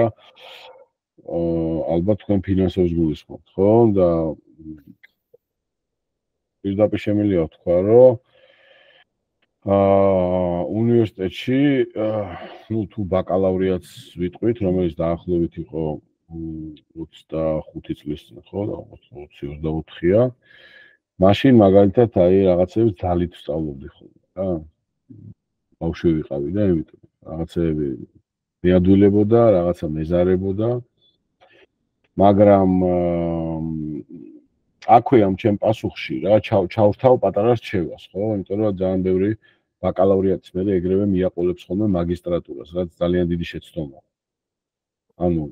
ალბათ თქვენ ფინანსებს გულისხმობთ, ხო? და პირდაპირ შემიძლია ვთქვა, რომ უნივერსიტეტში, თუ ბაკალავრიატს ვიტყვით, რომელიც დაახლოებით იყო 25 წლის წინ, ხო, და 20-24-ია. მაშინ მაგალითად აი რაღაცებს ძალით ვსწავლობდი ხოლმე, რა. ბავშვი ვიყავი და იმიტომ რაღაცები მეადვილებოდა, რაღაცა მეზარებოდა. მაგრამ აქვე ამ ჩემ პასუხში რა ჩავრთავ პატარა რჩევას, ხო? იმიტომ რომ ძალიან ბევრი ბაკალავრიატის მერე ეგრევე მიაყოლებს ხოლმე მაგისტრატურას, რაც ძალიან დიდი შეცდომაა. ანუ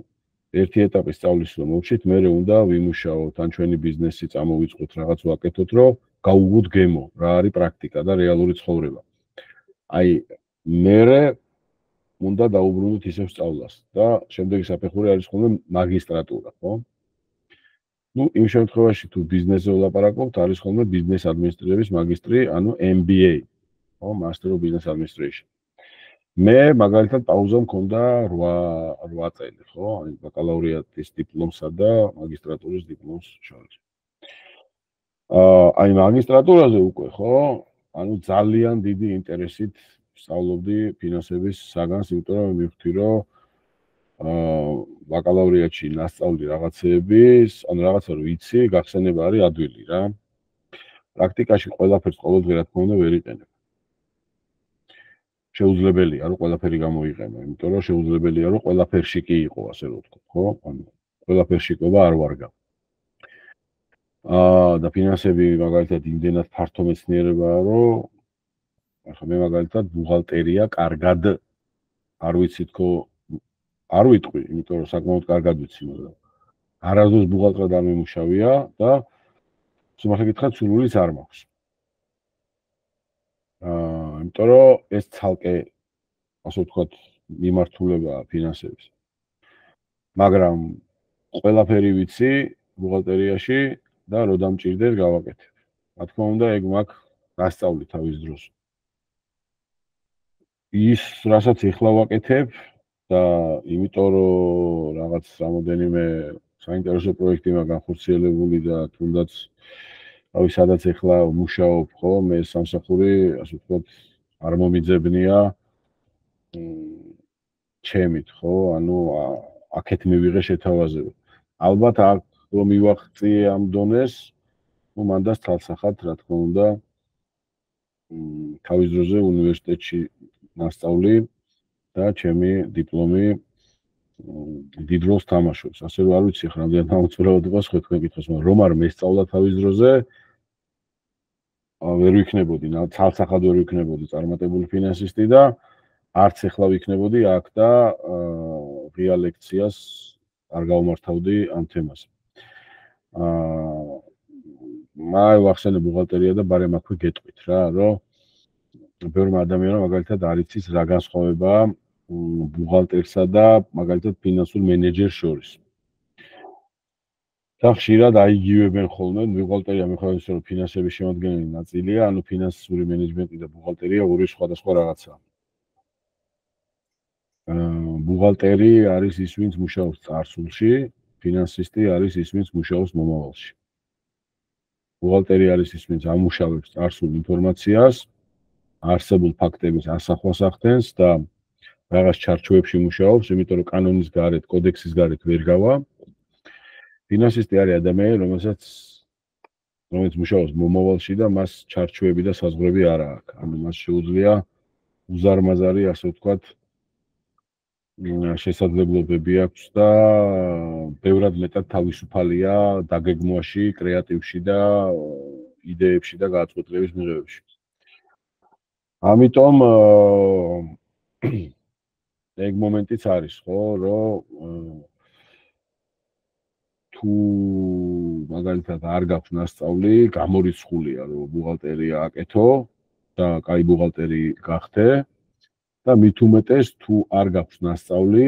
ერთი ეტაპის სწავლის რომ მოვშით, მერე უნდა ვიმუშაოთ, ან ჩვენი ბიზნესი წამოვიწყოთ, რაღაც ვაკეთოთ, რომ გავუგოთ გემო, რა არის პრაქტიკა და რეალური ცხოვრება. აი, მერე უნდა დაუბრუნდეთ ისევ სწავლას და შემდეგი საფეხური არის ხოლმე მაგისტრატურა, ხო? იმ შემთხვევაში თუ ბიზნესზე ვლაპარაკობთ, არის ხოლმე ბიზნეს ადმინისტრირების მაგისტრი, ანუ MBA, ხო, Master of Business Administration. მე მაგალითად პაუზა მქონდა 8 წელი, ხო? აი ბაკალავრიატის დიპლომსა და მაგისტრატურის დიპლომს შორის. აი მაგისტრატურაზე უკვე, ხო? ანუ ძალიან დიდი ინტერესით სწავლობდი ფინანსების საგანს, იმიტომ რომ მივხვდი, რომ ბაკალავრიატში ნასწავლი რაღაცეების, ანუ რაღაცა რო იცი, გახსენება არის ადვილი რა. პრაქტიკაში ყველაფერს ყოველდღე რა თქმა უნდა ვერ იყენებ. შეუძლებელია რომ ყველაფერი გამოიყენო, იმიტომ რომ შეუძლებელია რომ ყველაფერში კი იყო, ასე რომ ვთქვა, ხო? ანუ ყველაფერში ყობა არ ვარგა. და ფინანსები მაგალითად იმდენად ფართო მეცნიერებაა, რომ ახლა მე მაგალითად ბუღალტერია კარგად არ ვიცი თქო, არ ვიტყვი, იმიტომ რომ საკმაოდ კარგად ვიცი, მაგრამ არასდროს ბუღალტრად არ მიმუშავია და სიმართლე გითხრათ, სურვილიც არ მაქვს. იმიტომ რომ ეს ცალკე, ასე ვთქვათ, მიმართულებაა ფინანსების. მაგრამ ყველაფერი ვიცი ბუღალტერიაში და რო დამჭირდეს გავაკეთებ. რა თქმა უნდა, ეგ მაქვს გასწავლი თავის დროს. ის, რასაც ეხლა ვაკეთებ და იმიტომ რომ რაღაც რამოდენიმე საინტერესო პროექტი მაქვს განხორციელებული და თუნდაც რავი, სადაც ეხლა მუშაობ, ხო, მე სამსახური, ასე ვთქვათ, არ მომიძებნია ჩემით, ხო, ანუ აქეთ მივიღე შეთავაზება. ალბათ აქ რომ მივახციე ამ დონეს, ну მანდას თალსახად, რა თქმა უნდა, თავის დროზე უნივერსიტეტში ნასწავლი და ჩემი დიპლომი დიდ როლს თამაშობს. ასე რომ არ ვიცი ახლა რამდენად ამოწურებოდებას ხო თქვენ კითხოს, მაგრამ რომ არ მესწავლა თავის დროზე ვერ ვიქნებოდი, თალსახად ვერ ვიქნებოდი წარმატებული ფინანსისტი და არც ახლა ვიქნებოდი აქ და ღია ლექციას არ გავმართავდი ამ თემაზე. მაი ვახსენე ბუღალტერია და ბარემ აქვე გეტყვით რა, რომ ბევრმა ადამიანმა მაგალითად არ იცის რა განსხვავებაა ბუღალტერსა და მაგალითად ფინანსურ მენეჯერს შორის. და ხშირად აიგივებენ ხოლმე, ბუღალტერია მიხედავთ, რომ ფინანსების შემადგენელი ნაწილია, ანუ ფინანსური მენეჯმენტი და ბუღალტერია ორი სხვადასხვა რაღაცაა. ბუღალტერი არის ის, ვინც მუშაობს წარსულში, ფინანსისტი არის ის, ვინც მუშაობს მომავალში. ბუღალტერი არის ის, ვინც ამუშავებს წარსულ ინფორმაციას, არსებულ ფაქტების ასახვას ახდენს და რაღაც ჩარჩოებში მუშაობს, იმიტომ რომ კანონის გარეთ, კოდექსის გარეთ ვერ გავა. ფინანსისტი არის ადამიანი, რომელიც მუშაობს მომავალში და მას ჩარჩოები და საზღვრები არ აქვს. ანუ მას შეუძლია უზარმაზარი, ასე ვთქვათ, შესაძლებლობები აქვს და ბევრად მეტად თავისუფალია დაგეგმვაში, კრეატივში და იდეებში და გადაწყვეტილების მიღებაში. ამიტომ ეგ მომენტიც არის, ხო, რომ თუ მაგალითად არ გაქვს ნასწავლი, გამორიცხულია, რომ ბუღალტერია აკეთო და კაი ბუღალტერი გახდე და მით უმეტეს თუ არ გაქვს ნასწავლი,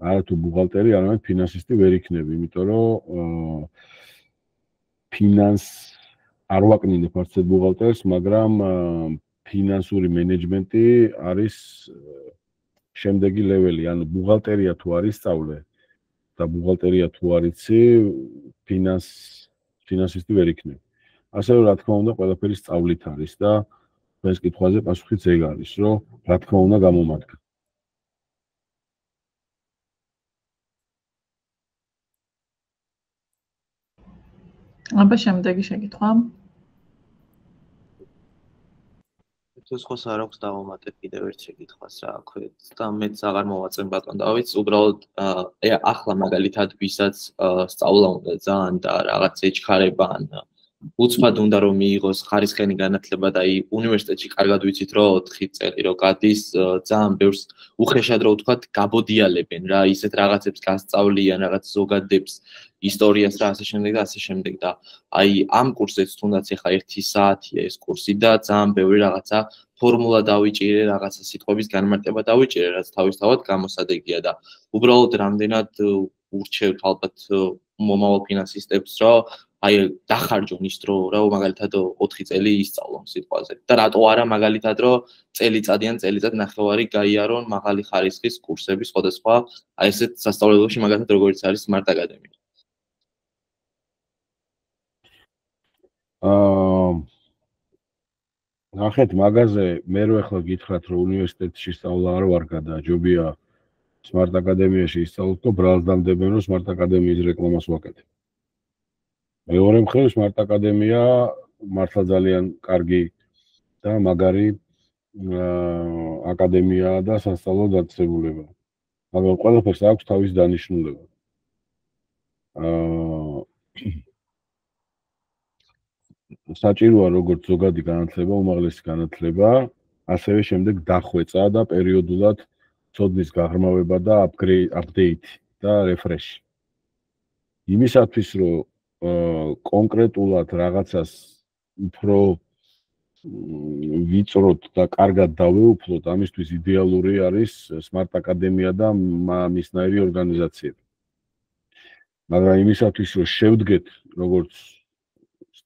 არა თუ ბუღალტერი, არამედ ფინანსისტი ვერ იქნები, იმიტომ რომ არ ვაკნინებ არცეთ ბუღალტერს, მაგრამ ფინანსური მენეჯმენტი არის შემდეგი ლეველი, ანუ ბუღალტერია თუ არ ისწავლე და ბუღალტერია თუ არ იცი, ფინანსისტი ვერ იქნები. ასე რომ, რა თქმა უნდა, ყველაფერი სწავლით არის და ეს კითხვაზე პასუხიც ეგ არის, რომ რა თქმა უნდა გამომადგა. აბა შემდეგი შეკითხვა. თუ სხვა არ აქვს დავამატებ კიდევ ერთ შეკითხვას რა აქვე და მეც აღარ მოვაწენ ბატონ დავით, უბრალოდ ახლა მაგალითად ვისაც სწავლა უნდა ძალიან და რაღაც ეჩქარება ან უცბად უნდა რომ მიიღოს ხარისხიანი განათლება და უნივერსიტეტში კარგად ვიცით რომ 4 წელი რო გადის ძალიან ბევრს უხეშად რო ვთქვათ გაბოდიალებენ რა ისეთ რაღაცებს გასწავლიან რაღაც ზოგადებს ისტორიას და ასე შემდეგ და ასე შემდეგ და აი ამ კურსეც თუნდაც ეხა 1 საათია ეს კურსი და ძალიან ბევრი რაღაცა ფორმულა დავიჭირე რაღაცა სიტყვების განმარტება დავიჭირე რაც თავისთავად გამოსადეგია და უბრალოდ რამდენად ურჩევთ ალბათ მომავალ ფინანსისტებს რომ აი დახარჯონ ის დრო, რა მაგალითად 4 წელი ისწავლონ სიტყვაზე. და რატო არა მაგალითად რომ წელიწადი ან წელიწად ნახევარი გაიარონ მაღალი ხარისხის კურსები სხვადასხვა აი ესეთ სასწავლებელში მაგალითად როგორც არის Smart Academy. ნახეთ მაგაზე მე რო ახლა გითხრათ რომ უნივერსიტეტში სწავლა არ ვარ გადაჯობია Smart Academy-ში ისწავლოთ და ბრალს დამდებენ რომ Smart Academy-ის რეკლამას ვაკეთებ. მეორე მხრივ Smart Academy-ა მართლა ძალიან კარგი და მაგარი აკადემიაა და სასწავლო დაწესებულება. მაგრამ ყველაფერს აქვს თავის დანიშნულება. საჭიროა როგორც ზოგადი განათლება, უმაღლესი განათლება, ასევე შემდეგ დახვეწა და პერიოდულად ცოდნის გაღრმავება და update და refresh. იმისათვის რომ კონკრეტულად რაღაცას უფრო ვიწროთ და კარგად დავეუფლოთ, ამისთვის იდეალური არის Smart Academy და მისნაირი ორგანიზაციები. მაგრამ იმისათვის რომ შევდგეთ როგორც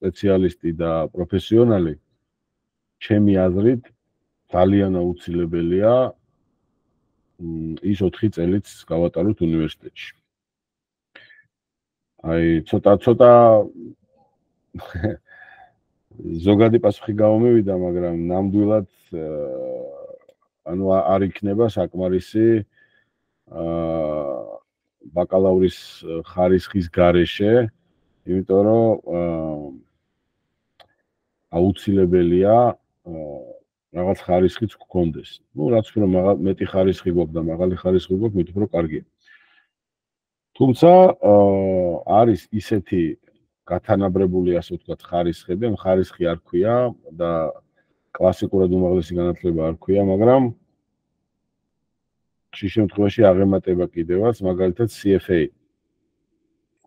სპეციალისტი და პროფესიონალი, ჩემი აზრით ძალიან აუცილებელია ის 4 წელიც გავატაროთ უნივერსიტეტში. აი ცოტა ზოგადი პასუხი გამომივიდა, მაგრამ ნამდვილად ანუ არ იქნება საკმარისი ბაკალავრის ხარისხის გარეშე, იმიტომ რომ აუცილებელია რაღაც ხარისხიც გქონდეს. ნუ რაც უფრო მეტი ხარისხი გვაქვს და მაღალი ხარისხი გვაქვს, მით უფრო კარგია. თუმცა არის ისეთი გათანაბრებული, ასე ვთქვათ, ხარისხები, ან ხარისხი არ ქვია და კლასიკურად უმაღლესი განათლება არ ქვია, მაგრამ ხშირ შემთხვევაში აღემატება კიდევაც, მაგალითად CFA.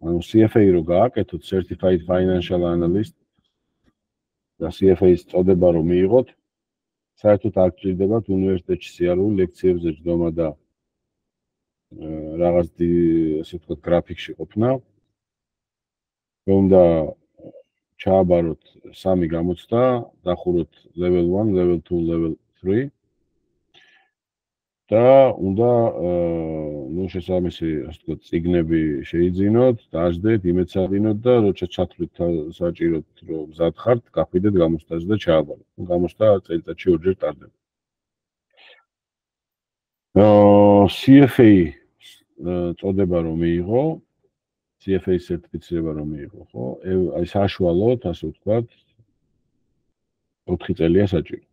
ანუ CFA რო გააკეთოთ, Certified Financial Analyst და CFA-ის წოდება რომ მიიღოთ, საერთოდ არ გჭირდებათ უნივერსიტეტში სიარული ლექციებზე ჯდომა და რაღაც ასე ვთქვათ გრაფიკში ყოფნა. უნდა ჩააბაროთ 3 გამოცდა, დახუროთ level 1, level 2, level 3 და უნდა ნუ შესაბამისი ასე ვთქვათ წიგნები შეიძინოთ, დაждდეთ, იმედს აღინოთ და როცა ჩათვლით საჭიროთ რომ მზად ხართ, გახვიდეთ გამოცდაზე და ჩააბაროთ. გამოცდა წელიწადში 2 ჯერ ტარდება. CFA წოდება რომ მიიღო, CFA სერტიფიცირება რომ მიიღო, ხო? აი საშუალოდ, ასე ვთქვათ, 4 წელია საჭირო.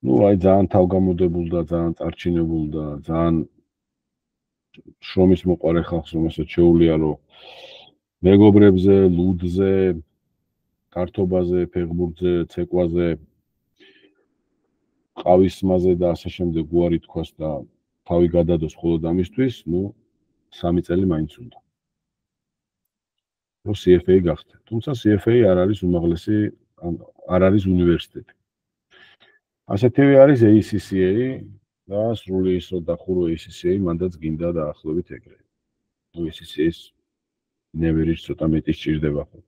ნუ აი ძალიან თავგამოდებულ და ძალიან წარჩინებულ და ძალიან შრომის მოყარე ხალხს რომელსაც შეუძლია რომ მეგობრებზე, ლუდზე, კარტობაზე, ფეხბურთზე, ცეკვაზე, ყავისმაზე და ასე შემდეგ უარი თქვას და თავი გადადოს მხოლოდ ამისთვის, ნუ 3 წელი მაინც უნდა. რომ CFA გახდეთ. თუმცა CFA არ არის უმაღლესი, არ არის უნივერსიტეტი. ასეთივე არის ACCA და სრული ის რომ დახურო ACCA, მანდაც გინდა დაახლოებით ეგრე. ნუ ACCA-ს ნებერიც ცოტა მეტი სჭირდება ხო.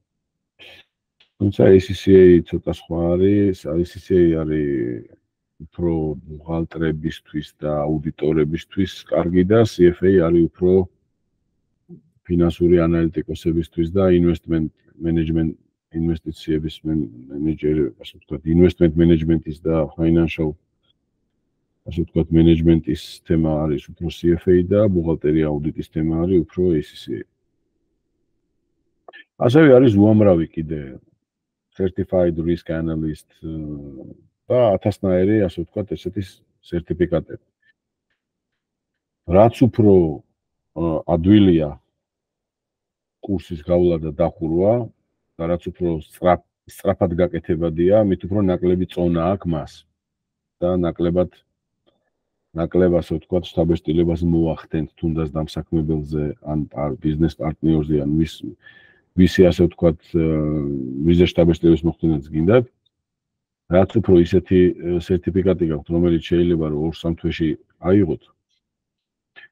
თუმცა ACCA ცოტა სხვა არის, ACCA არის უფრო ბუღალტრებისთვის და აუდიტორებისთვის კარგი და CFA არის უფრო ფინანსური ანალიტიკოსებისთვის და investment management ინვესტიციების მენეჯერი, ასე ვთქვათ, investment management-ის და financial ასე ვთქვათ, management-ის თემა არის უფრო CFA და ბუღალტერია აუდიტის თემა არის უფრო ACCA. ასევე არის უამრავი კიდე certified risk analyst და 1000-ნაირი, ასე ვთქვათ, ესეთი სერტიფიკატები. რაც უფრო ადვილია კურსის გავლა და დახურვა და რაც უფრო სწრაფად გაკეთებადია, მით უფრო ნაკლები წონა აქვს მას და ნაკლებად ასე ვთქვათ, შთაბეჭდილებას მოახდენთ თუნდაც დამსაქმებელზე ან ბიზნეს პარტნიორზე ან ვისი ასე ვთქვათ, ვიზე შთაბეჭდილების მოხდენაც გინდათ. რაც უფრო ისეთი სერტიფიკატი გაქვთ, რომელიც შეიძლება რომ 2-3 თვეში აიღოთ,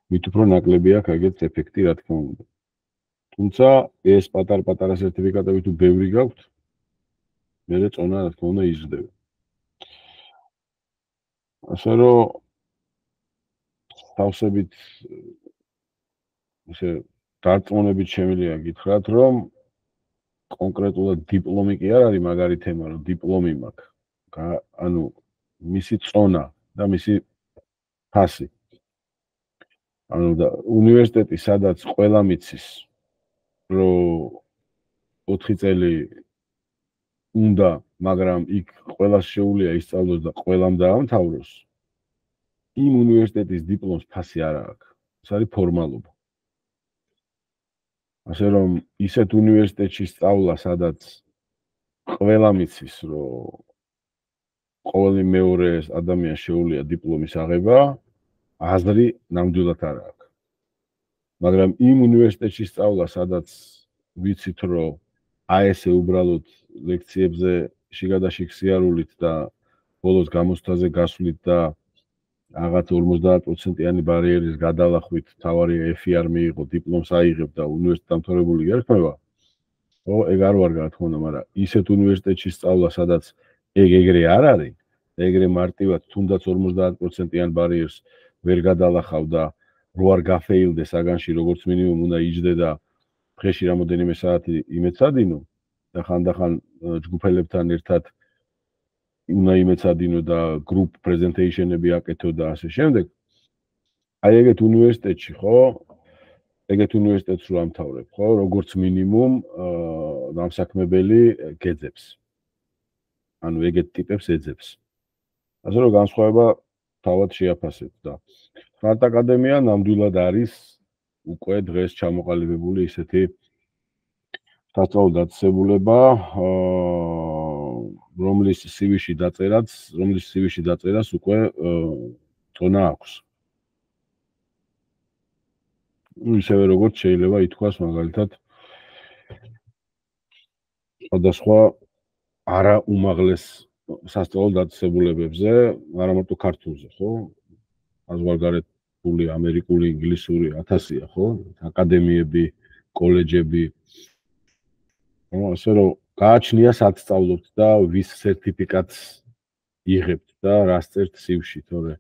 მით უფრო ნაკლები აქვს ეგეთ ეფექტი, რა თქმა უნდა. თუმცა ეს პატარ-პატარა სერტიფიკატები თუ ბევრი გაქვთ, მერე წონა რა თქმა უნდა იზრდება. ასე რომ თავსებით ესე დარწმუნებით შემიძლია გითხრათ, რომ კონკრეტულად დიპლომი კი არ არის მაგარი თემა, რომ დიპლომი მაქვს. ანუ მისი წონა და მისი ფასი. ანუ და უნივერსიტეტი სადაც ყველა მიცის, რომ 4 წელი უნდა, მაგრამ იქ ყველას შეუძლია ისწავლოს და ყველამ დაამთავროს. იმ უნივერსიტეტის დიპლომს ფასი არ აქვს. ეს არის ფორმალობა. ასე რომ ისეთ უნივერსიტეტში სწავლა, სადაც ყველა მიცის, რომ ყოველი მეორე ადამიანს შეუძლია დიპლომის აღება, აზრი ნამდვილად არ აქვს. მაგრამ იმ უნივერსიტეტში სწავლა, სადაც ვიცით, რომ აი ესე უბრალოდ ლექციებზე შიგადაშიგ სიარულით და ბოლოს გამოცდაზე გასვლით და რაღაც 50%-იანი ბარიერის გადალახვით თავარი F-ი არ მიიღო, დიპლომს აიღებ და უნივერსიტეტ დამთავრებული ერქვა. ხო, ეგ არ ვარ რა თქმა უნდა, მაგრამ ისეთ უნივერსიტეტში სწავლა, სადაც ეგრე არ არის, ეგრე მარტივად თუნდაც 50%-იან ბარიერს ვერ გადალახავ და რო არ გაფეილდე საგანში, როგორც მინიმუმ უნდა იჯდე და დღეში რამოდენიმე საათი იმეცადინო და ხანდახან ჯგუფელებთან ერთად უნდა იმეცადინო და group presentation-ები აკეთო და ასე შემდეგ. აი ეგეთ უნივერსიტეტში, ხო? ეგეთ უნივერსიტეტს რო ამთავრებ, ხო? როგორც მინიმუმ დამსაქმებელი გეძებს. ანუ ეგეთ ტიპებს ეძებს. ასე რომ განსხვავება თავად შეაფასეთ და Smart აკადემია ნამდვილად არის უკვე დღეს ჩამოყალიბებული ისეთი სასწავლო დაწესებულება, რომლის CV-ში დაწერას უკვე წონა აქვს. ისევე როგორც შეიძლება ითქვას მაგალითად სხვადასხვა არა უმაღლეს სასწავლო დაწესებულებებზე, არა მარტო ქართულზე, ხო? საზღვარგარეთული, ამერიკული, ინგლისური 1000-ია, ხო? აკადემიები, კოლეჯები. ასე რომ გააჩნია სად სწავლობთ და ვის სერტიფიკატს იღებთ და რას წერთ CV-ში, თორე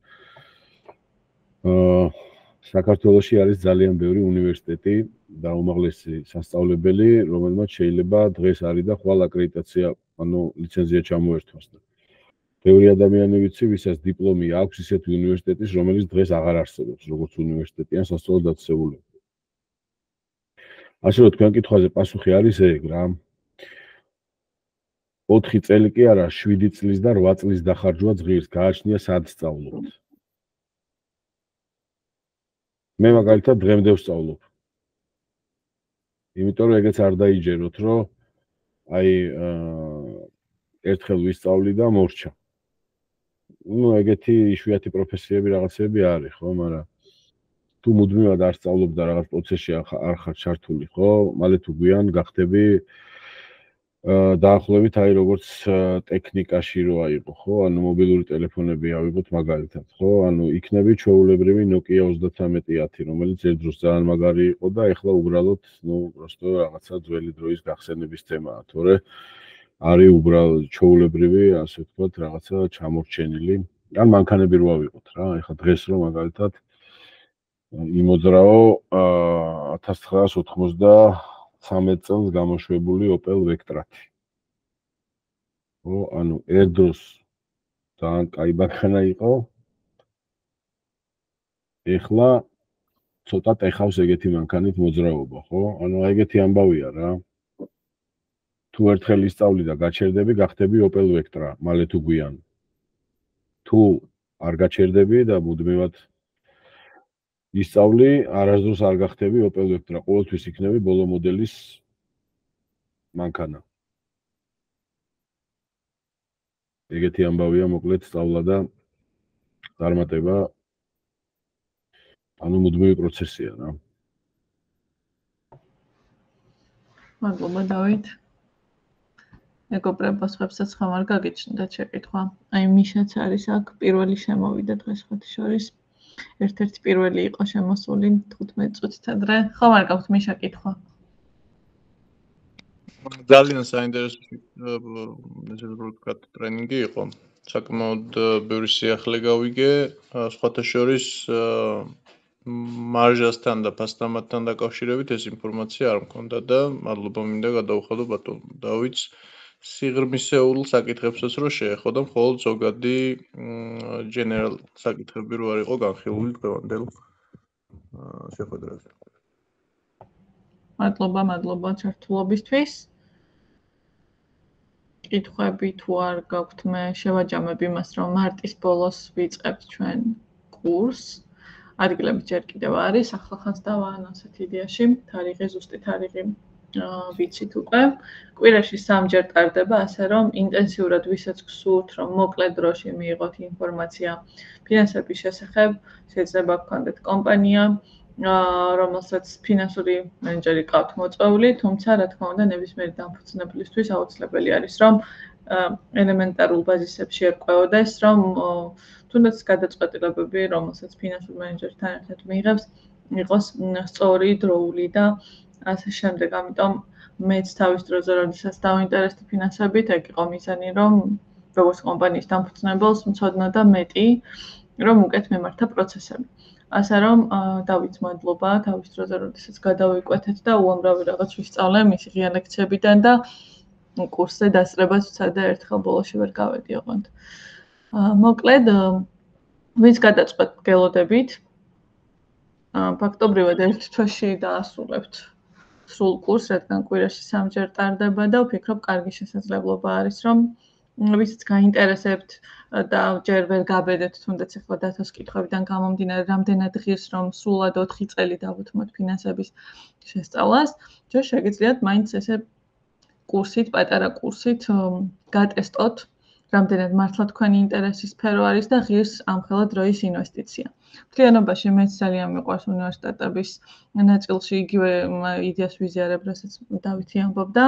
საქართველოში არის ძალიან ბევრი უნივერსიტეტი და უმაღლესი სასწავლებელი, რომელმაც შეიძლება დღეს არის და ხვალ აკრედიტაცია, ანუ ლიცენზია ჩამოერთვას. ბევრი ადამიანი ვიცი, ვისაც დიპლომი აქვს ისეთი უნივერსიტეტის, რომელიც დღეს აღარ არსებობს, როგორც უნივერსიტეტი ან სასწავლო დაწესებულება. ასე რომ თქვენ კითხვაზე პასუხი არის ეგ რა. 4 წელი კი არა, 7 წლის და 8 წლის დახარჯვა ღირს, გააჩნია სად სწავლობთ. მე მაგალითად დღემდე ვსწავლობ. იმიტომ რომ ეგეც არ დაიჯეროთ, რომ აი ერთხელ ვისწავლი და მორჩა. ნუ ეგეთი იშვიათი პროფესიები რაღაცები არის, ხო, მაგრამ თუ მუდმივად არ სწავლობ და რაღაც პროცესში არ ხარ ჩართული, ხო, მალე თუ გვიან გახდები დაახლოებით აი როგორც ტექნიკაში რო აიღო, ხო, ანუ მობილური ტელეფონები ავიღოთ მაგალითად, ხო, ანუ იქნები ჩვეულებრივი Nokia 3310, რომელიც ერთ დროს ძალიან მაგარი იყო და ეხლა უბრალოდ, ნუ просто რაღაცა ძველი დროის გახსენების თემაა, თორე არის უბრალოდ ჩვეულებრივი, ასე ვთქვათ, რაღაცა ჩამორჩენილი. ან მანქანები რო ავიღოთ რა, ეხლა დღეს რო მაგალითად იმოძრაო 1993 წელს გამოშვებული Opel Vectra-ი. ხო, ანუ ერთ დროს ძალიან კაი მანქანა იყო. ეხლა ცოტა ტეხავს ეგეთი მანქანით მოძრაობა, ხო? ანუ ეგეთი ამბავია რა. თუ ერთხელ ისწავლი და გაჩერდები, გახდები Opel Vectra, მალე თუ გვიან. თუ არ გაჩერდები და მუდმივად ისწავლი, არასდროს არ გახდები Opel Vectra, ყოველთვის იქნები ბოლო მოდელის მანქანა. ეგეთი ამბავია მოკლედ სწავლა და წარმატება, ანუ მუდმივი პროცესია რა. მადლობა დავით. მეგობრებო, სხვებსაც ხომ არ გაგიჩნდათ შეკითხვა. აი მიშაც არის აქ პირველი შემოვიდა დღეს ხოთი შორის. ერთ-ერთი პირველი იყო შემოსული 15 წუთით ადრე. ხომ არ გაქვთ მიშა კითხვა? ძალიან საინტერესო ტრენინგი იყო. საკმაოდ ბევრი სიახლე გავიგე, სხვათა შორის მარჟასთან და ფასდამატთან დაკავშირებით ეს ინფორმაცია არ მქონდა და მადლობა მინდა გადაუხადო ბატონ დავითს სიღრმისეულ საკითხებსაც რო შეეხო და მხოლოდ ზოგადი general საკითხები რო არ იყო განხილული დღევანდელ შეხვედრაზე. მადლობა ჩართულობისთვის. კითხვები თუ არ გაქვთ, მე შევაჯამებ იმას, რომ მარტის ბოლოს ვიწყებთ ჩვენ კურსს. ადგილები ჯერ კიდევ არის, ახლახანს დავაან ასეთ იდეაში, თარიღი, ზუსტი თარიღი ვიცით უკვე. კვირაში 3 ჯერ ტარდება, ასე რომ ინტენსიურად ვისაც გსურთ, რომ მოკლე დროში მიიღოთ ინფორმაცია ფინანსების შესახებ, შეიძლება გქონდეთ კომპანია, რომელსაც ფინანსური მენეჯერი ყავთ მოწვეული, თუმცა რა თქმა უნდა ნებისმიერი დამფუძნებლისთვის აუცილებელი არის, რომ ელემენტარულ ბაზისებში ერკვეოდეს, რომ თუნდაც გადაწყვეტილებები, რომელსაც ფინანსური მენეჯერთან ერთად მიიღებს, იყოს სწორი, დროული და ასე შემდეგ. ამიტომ მეც თავის დროზე, როდესაც დავინტერესდი ფინანსებით, ეგ იყო მიზანი, რომ როგორც კომპანიის დამფუძნებელს მცოდნა და მეტი, რომ უკეთ მემართა პროცესები. ასე რომ დავითს მადლობა თავის დროზე, როდესაც გადავიკვეთეთ და უამრავი რაღაც ვისწავლე მისი ღია ლექციებიდან და კურსზე დასწრებას ვცადე ერთხელ ბოლოში ვერ გავედი ოღონდ. მოკლედ, ვინც გადაწყვეტ გელოდებით, ფაქტობრივად ერთ თვეში დაასრულებთ სრულ კურსს, რადგან კვირაში 3 ჯერ ტარდება და ვფიქრობ, კარგი შესაძლებლობა არის, რომ ვისაც გაინტერესებთ და ჯერ ვერ გაბედეთ, თუნდაც ახლა დათოს კითხვებიდან გამომდინარე, რამდენად ღირს, რომ სრულად 4 წელი დავუთმოთ ფინანსების შესწავლას, ჯერ შეგიძლიათ მაინც ესე კურსით, პატარა კურსით გატესტოთ, რამდენად მართლა თქვენი ინტერესის სფერო არის და ღირს ამხელა დროის ინვესტიცია. მთლიანობაში მეც ძალიან მიყვარს უნივერსიტეტების ნაწილში იგივე იდეას ვიზიარებ, რასაც დავითი ამბობდა.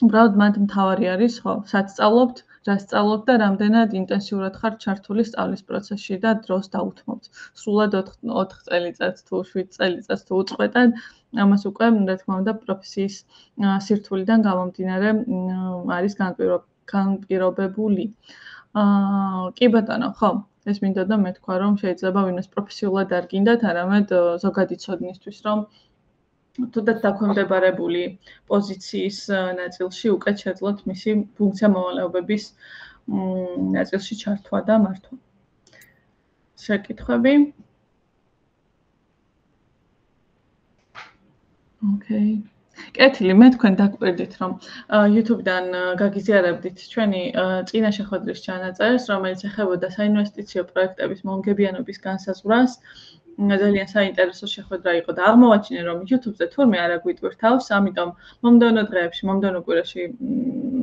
უბრალოდ მათ მთავარი არის, ხო, სად სწავლობთ, რა სწავლობთ და რამდენად ინტენსიურად ხართ ჩართული სწავლის პროცესში და დროს დაუთმობთ. სრულად 4 წელიწადს თუ 7 წელიწადს თუ უწყვეტად, ამას უკვე, რა თქმა უნდა, პროფესიის სირთულიდან გამომდინარე არის განპირობებული. კი ბატონო, ხო, ეს მინდოდა მეთქვა, რომ შეიძლება ვინმეს პროფესიულად არ გინდათ, არამედ ზოგადი ცოდნისთვის, რომ თუნდაც დაქვემდებარებული პოზიციის ნაწილში უკეთ შეძლოთ მისი ფუნქცია მოვალეობების ნაწილში ჩართვა და მართვა. შეკითხვები? ოკეი. კეთილი, მე თქვენ დაგვერდით, რომ YouTube-დან გაგიზიარებდით ჩვენი წინა შეხვედრის ჩანაწერს, რომელიც ეხებოდა საინვესტიციო პროექტების მომგებიანობის განსაზღვრას. ძალიან საინტერესო შეხვედრა იყო და აღმოვაჩინე, რომ YouTube-ზე თურმე არ აგვიტვირთავს, ამიტომ მომდევნო დღეებში, მომდევნო კვირაში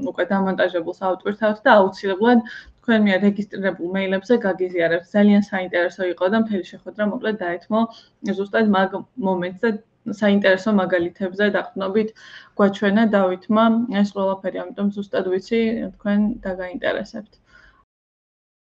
უკვე დამონტაჟებულს ავტვირთავთ და აუცილებლად თქვენ მიერ რეგისტრირებულ მეილებზე გაგიზიარებთ. ძალიან საინტერესო იყო და მთელი შეხვედრა მოკლედ დაეთმო ზუსტად მაგ მომენტს და საინტერესო მაგალითებზე დაყრდნობით გვაჩვენა დავითმა ეს ყველაფერი, ამიტომ ზუსტად ვიცი თქვენ დაგაინტერესებთ.